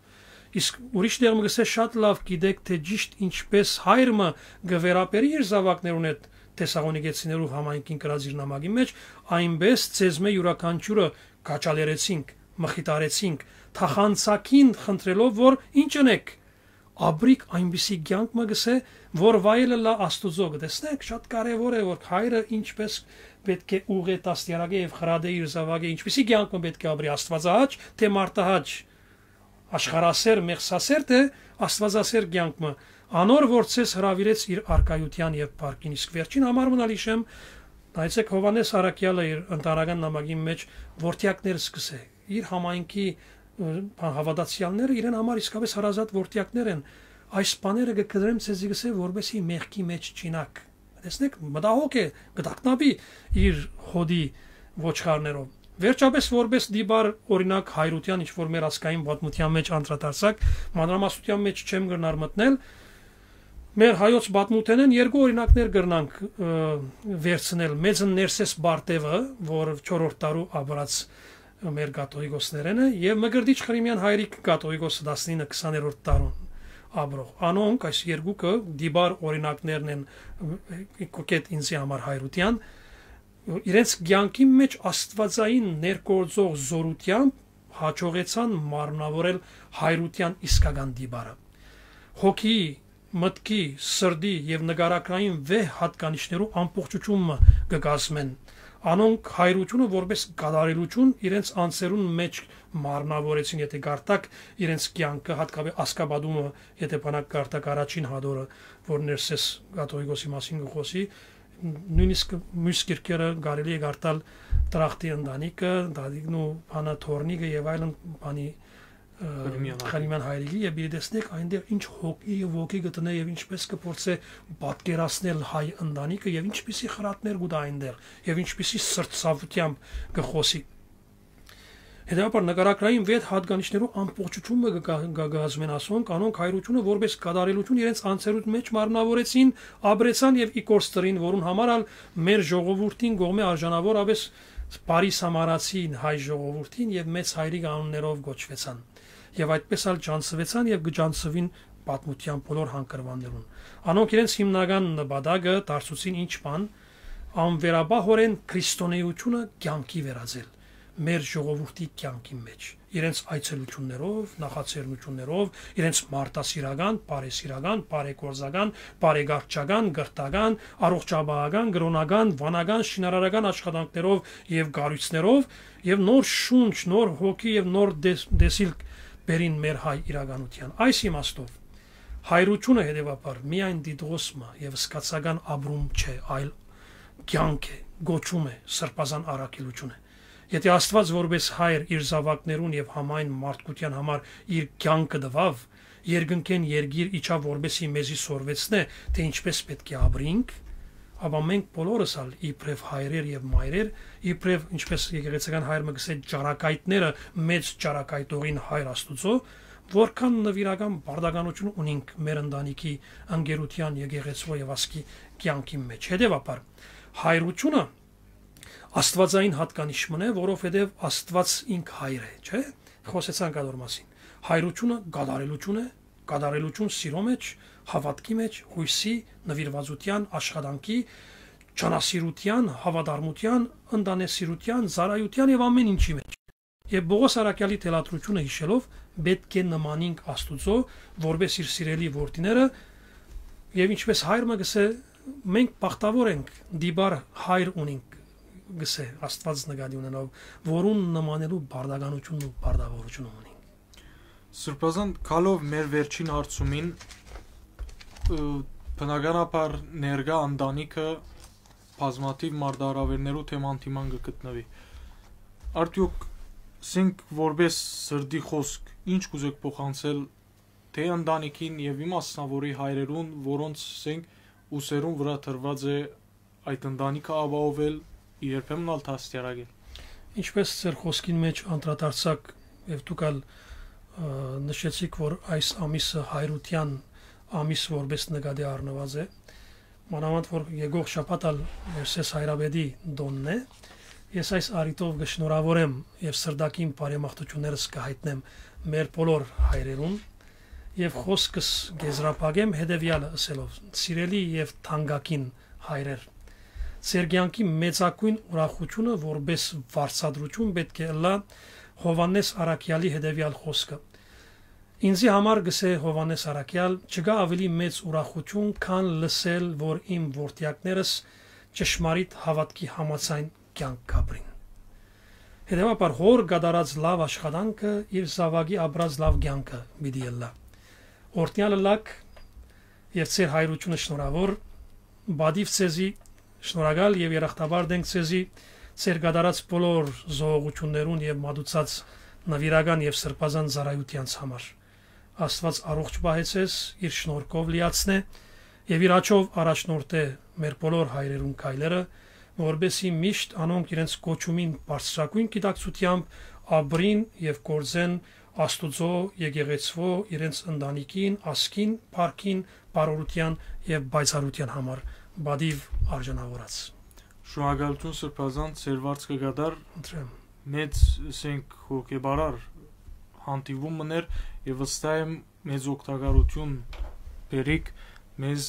Իսկ ուրիշ տեղ մը գսէ, շատ լաւ գիտեք, թէ ճիշդ ինչպես հայր մը կը վերաբերի իր զաւակներուն հետ Թեսաղոնիկեցիներու համայնքին գրած իր նամակի մէջ, այնպես ձեզմէ իւրաքանչիւրը քաջալերեցինք, մխիթարեցինք, թախանցակին խնդրելով, որ ինչ ընեք, ապրիք այնպիսի կեանք մը գսէ, որ վայելը լա Աստուծոյ։ Կը տեսնեք, շատ կարեւոր է, որ հայրը ինչպես պէտք է ուղղէ, դաստիարակէ եւ խրատէ իր զաւակը, ինչպիսի կեանք մը պէտք է ապրի, աստուածահաճ թէ մարդահաճ, աշխարհասէր, մեղսասէր թէ աստուածասէր կեանք մը։ Անոր որ ձեզ հրաւիրեց իր արքայութեան եւ փառքին։ Իսկ վերջին համար մնալ յիշեմ, նայեցէք, Յովհաննէս Առաքեալը իր ընտանական նամակին մէջ որդեակներ սկսէ, իր համայնքի, ը, հաւատացեալները իրեն համար իսկապէս հարազատ որդեակներ են։ «Այս բաները կը կտրեմ ձեզի», կսէ, «որպեսզի մեղքի մէջ չինաք»։ Տեսնէք, մտահոգ է, կը տագնապի իր հօդի ոչխարներով։ Վերջապէս, որպէս դիպար օրինակ հայրութեան, ինչ որ մեր ազգային պատմութեան մէջ անդրադարձակ, մանրամասնութեան մէջ չեմ կրնար մտնել, մեր հայոց պատմութենէն երկու օրինակներ կրնանք, ը, վերցնել։ Մեծն Ներսէս Պարտեւը, որ չորրորդ դարու ապրած մեր կաթողիկոսներէն է, եւ Մկրտիչ Խրիմեան հայրիկ կաթողիկոսը, տասնինը քսաներորդ դարուն ապրող։ Անոնք, այս երկուքը, դիպար օրինակներն են, ը, կուկետ ինձի համար հայրութեան, իրենց կեանքի մէջ աստուածային ներգործող զօրութեամբ հաջողեցան մարմնաւորել հայրութեան իսկական դիպարը։ Հոգիի, մտքի, սրտի եւ նկարագրային վեհ յատկանիշներու ամբողջութիւն մը կը կազմեն։ Անոնք հայրութիւնը որպէս կատարելութիւն իրենց անձերուն մէջ մարմնաւորեցին, եթե կարդաք իրենց կեանքը, հատկապէս Ազգապատումը, եթե բանակ կարդաք առաջին հատորը, որ Ներսէս կաթողիկոսի մասին կը խօսի, նոյնիսկ միւս կիրքերը կարելի է կարդալ Տրախտի ընտանիքը, Դադիկն ու բանը Թորնիկը եւ այլն, բանի, ը, Խրիմեան հայրիկը։ Խրիմեան հայրիկի, եւ պիտի տեսնեք այնտեղ ինչ հոգի եւ ոգի կը տնէ եւ ինչպես կը փորձէ պատկերացնել հայ ընտանիքը եւ ինչպիսի խրատներ կու տայ այնտեղ եւ ինչպիսի սրտացավութեամբ կը խօսի։ Հետեւաբար, նկարագրային վեհ յատկանիշներու ամբողջութիւնը կը կա-, կը կազմեն ասոնք, անոնք հայրութիւնը որպէս կատարելութիւն իրենց անձերուն մէջ մարմնաւորեցին, ապրեցան եւ ի գործ դրին, որուն համար ալ մեր ժողովուրդին կողմէ արժանաւորապէս բարի սամարացին հայ ժողովուրդին եւ մեծ հայրիկ անուններով կոչուեցան։ Եւ այդպես ալ ճանչցուեցան եւ կը ճանչցուին պատմութեան բոլոր հանգրուաններուն։ Անոնք իրենց հիմնական նպատակը դարձուցին ինչ բան, անվերապահօրէն քրիստոնէութիւնը կեանքի վերածել մեր ժողովուրդի կեանքին մէջ, իրենց այցելութիւններով, նախաձեռնութիւններով, իրենց մարդասիրական, բարեսիրական, բարեգործական, բարեկարգչական, կրթական, առողջապահական, կրօնական, վանական, շինարարական աշխատանքներով եւ կառոյցներով, եւ նոր շունչ, նոր հոգի եւ նոր դես-, տեսիլք բերին մեր հայ իրականութեան։ Այս իմաստով, հայրութիւնը, հետեւաբար, միայն տիտղոս մը եւ սկացական ապրում չէ, այլ կեանք է, կոչում է, սրբազան առաքելութիւն է։ Եթե Աստուած որպէս հայր իր զաւակներուն եւ համայն մարդկութեան համար իր կեանքը տուաւ, երկնքէն երկիր իջաւ, որպէսզի մեզի սորվեցնէ, թէ ինչպես պէտք է ապրինք, ապա մենք բոլորս ալ իբրեւ հայրեր եւ մայրեր, իբրեւ, ինչպես եկեղեցական հայր մը կսէ, ճառագայթները մեծ ճառագայթողին հայր Աստուծոյ, որքան նուիրական պարտականութիւն ունինք մեր ընտանիքի, ընկերութեան, եկեղեցւոյ եւ ազգի կեանքին մէջ։ Հետեւաբար, հայրութիւնը աստուածային յատկանիշ մըն է, որովհետեւ Աստուած ինք հայր է, չէ՞։ Խօսեցանք ատոր մասին։ Հայրութիւնը կատարելութիւն է, կատարելութիւն սիրո մէջ, հաւատքի մէջ, յոյսի, նուիրուածութեան, աշխատանքի, ջանասիրութեան, հաւատարմութեան, ընտանեսիրութեան, ծառայութեան եւ ամէն ինչի մէջ։ Եւ Պողոս առաքեալի թելադրութիւնը յիշելով, պէտք է նմանինք Աստուծոյ, որպէս իր սիրելի որդիները, եւ ինչպես հայր մը կսէ, մենք բախտաւոր ենք, դիպար հայր ունինք, կսէ Աստուած նկատի ունենալով, որուն նմանելու պարտականութիւնն ու պարտավորութիւնը ունինք։ Սրբազան, գալով մեր վերջին հարցումին, ը, բնականաբար ներկայ ընտանիքը բազմաթիւ մարտահրաւերներու թեման դիման կը գտնուի։ Արդեօք սենք որպէս սրտի խօսք, ինչ կուզեք փոխանցել թէ ընտանիքին եւ իմաստանաւորի հայրերուն, որոնց սենք ուսերուն վրայ դրուած է այդ ընտանիքը ապահովել, երբեմն ալ դաստիարակել։ Ինչպես ձեր խօսքին մէջ անդրադարձաք եւ դուք ալ, ը, նշեցիք, որ այս ամիսը հայրութեան ամիս որպէս նկատի առնուած է, մանաւանդ որ եկող շաբաթ ալ Ներսէս հայրապետի տօնն է, ես այս առիթով կը շնորհավորեմ եւ սրտագին բարեմաղթութիւններս կը հայտնեմ մեր բոլոր հայրերուն եւ խօսքս կեզրափակեմ հետեւեալը ըսելով. «Սիրելի եւ թանկագին հայրեր, ձեր կեանքի մեծագոյն ուրախութիւնը որպէս վարձատրութիւն պէտք է ըլլայ Յովհաննէս առաքեալի հետեւեալ խօսքը. "Ինձի համար", կսէ Յովհաննէս առաքեալ, "չկայ աւելի մեծ ուրախութիւն, քան լսել, որ իմ որդեակներս ճշմարիտ հաւատքի համաձայն կեանք կապրին։ Հետեւաբար, հօր կատարած լաւ աշխատանքը իր զաւակի ապրած լաւ կեանքը պիտի ըլլայ։ Օրհնեալ ըլլաք եւ ձեր հայրությունը շնորհաւոր, պատիւ ձեզի, շնորհակալ եւ երախտապարտ ենք ձեզի, ձեր կատարած բոլոր զոհողութիւններուն եւ մատուցած նվիրական եւ սրբազան ծառայութեանց համար։ Աստուած առողջ պահեցես, իր շնորհքով լիացնէ եւ իր աջով առաջնորդէ մեր բոլոր հայրերուն քայլերը, որպեսզի միշտ անոնք իրենց կոչումին բարձրագոյն գիտակցութեամբ ապրին եւ գործեն Աստուծոյ եկեղեցւոյ, իրենց ընտանիքին, ազգին, փառքին, բարօրութեան եւ պայծառութեան համար պատիւ արժանաւորած։ Շնորհակալութիւն, Սրբազան, ձեր վարձքը կատար։ Խնդրեմ։ Մեծ, ասենք, հոգեբարար հանդիպում մըն էր եւ վստահ եմ, մեծ օգտակարութիւն բերիք մեզ,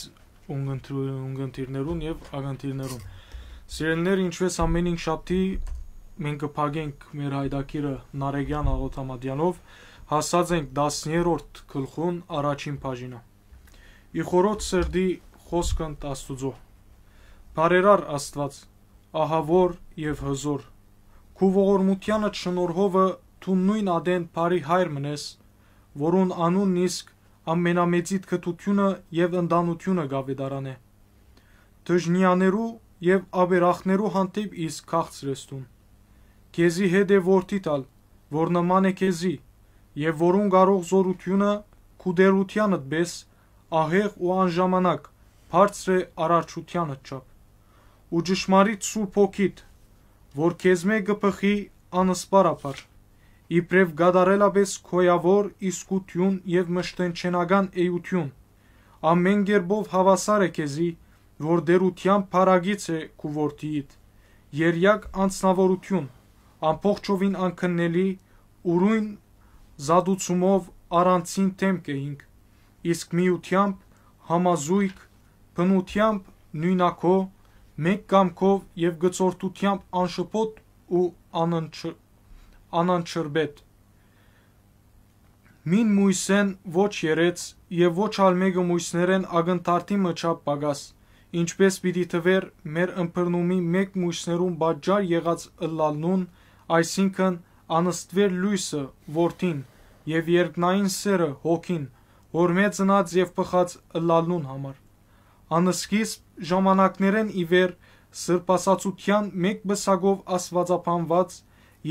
ունգընտրու-, ունգընտիրներուն եւ ակընտիրներուն։ Սիրելիներ, ինչպէս ամէն հինգշաբթի, մենք կը փակենք մեր հայդակիրը Նարեկեան Աղոթամատեանով, հասած ենք տասներորդ գլխուն առաջին բաժինը։ Ի խորոց սրտի խօսքն Աստուծոյ։ Բարերար Աստուած, ահաւոր եւ հզօր, քու ողորմութեանդ շնորհովը դուն նոյն ատեն բարի հայր մըն ես, որուն անունն իսկ ամենամեծիդ կրթութիւնը եւ ընտանութիւնը կ'աւետարանէ։ Դժնեաներու եւ աբերախներու հանդէպ իսկ քաղցր ես դուն։ Քեզի հետ է որդիդ ալ, որ նման է քեզի, եւ որուն կարող զօրութիւնը քու տէրութեանդ պէս ահեղ ու անժամանակ բարձր է արարչութեանդ չափ։ Ու ճշմարիտ Սուրբ Հոգիդ, որ քեզմէ կը բխի անսպառաբար, իբրեւ կատարելապէս գոյաւոր իսկութիւն եւ մշտենչենական էութիւն, ամէն կերպով հաւասար է քեզի, որ տէրութեան փառագիծ է քու որդիիդ, երեակ անձնաւորութիւն, ամբողջովին անքննելի, ուրոյն զատուցումով առանցին դէմք է ինք, իսկ միութեամբ համազոյգ, բնութեամբ նոյնակոյ, մէկ կամքով եւ գծորդութեամբ անշփոթ ու անընչ-, անանչրբետ։ Մին մոյսեն ոչ երեց եւ ոչ ալ մէկը մոյսներէն ակնթարթի մը չափ պակաս, ինչպէս պիտի թուէր մեր ըմբռնումի մէկ մոյսներուն պատճառ եղած ըլլալնուն, այսինքն անստուեր լոյսը որդին եւ երկնային սերը հոգին, յորմէ ծնած եւ բխած ըլլալնուն համար։ Անսկիզբ ժամանակներէն ի վեր սրբասացութեան մէկ պսակով աստուածաբանուած,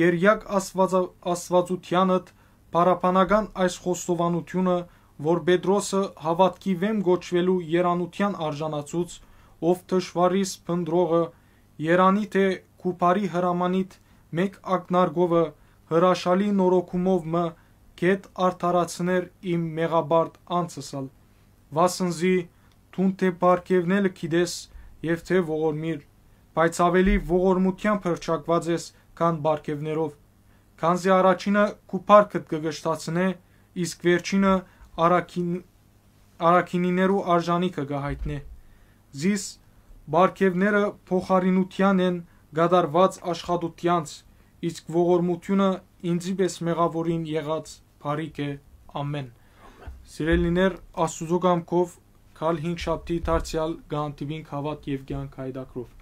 երեակ աստուածա-, աստուածութեանդ փառաբանական այս խոստովանութիւնը, որ Պետրոսը հաւատքի վէմ կոչուելու երանութեան արժանացուց, ով թշուառիս փնտռողը, երանի թէ քու բարի հրամանիդ մէկ ակնարկովը հրաշալի նորոգումով մը կետ արդարացներ իմ մեղաբարդ անձս ալ, վասն զի դուն թէ պարգեւնելը գիտես եւ թէ ողորմիր, բայց աւելի ողորմութեան փրկուած ես քան պարգեւներով, քանզի առաջինը քու փառքդ կը կշտացնէ, իսկ վերջինը առաքին-, առաքինիներու արժանիքը կը յայտնէ։ Զիս պարգեւները փոխարինութեան են կատարուած աշխատութեանց, իսկ ողորմութիւնը ինծի պէս մեղաւորին եղած բարիք է։ Ամէն։ Սիրելիներ, Աստուծոյ կամքով գալ հինգշաբթի դարձեալ կհանդիպինք հաւատ եւ կեանք հայդակրով։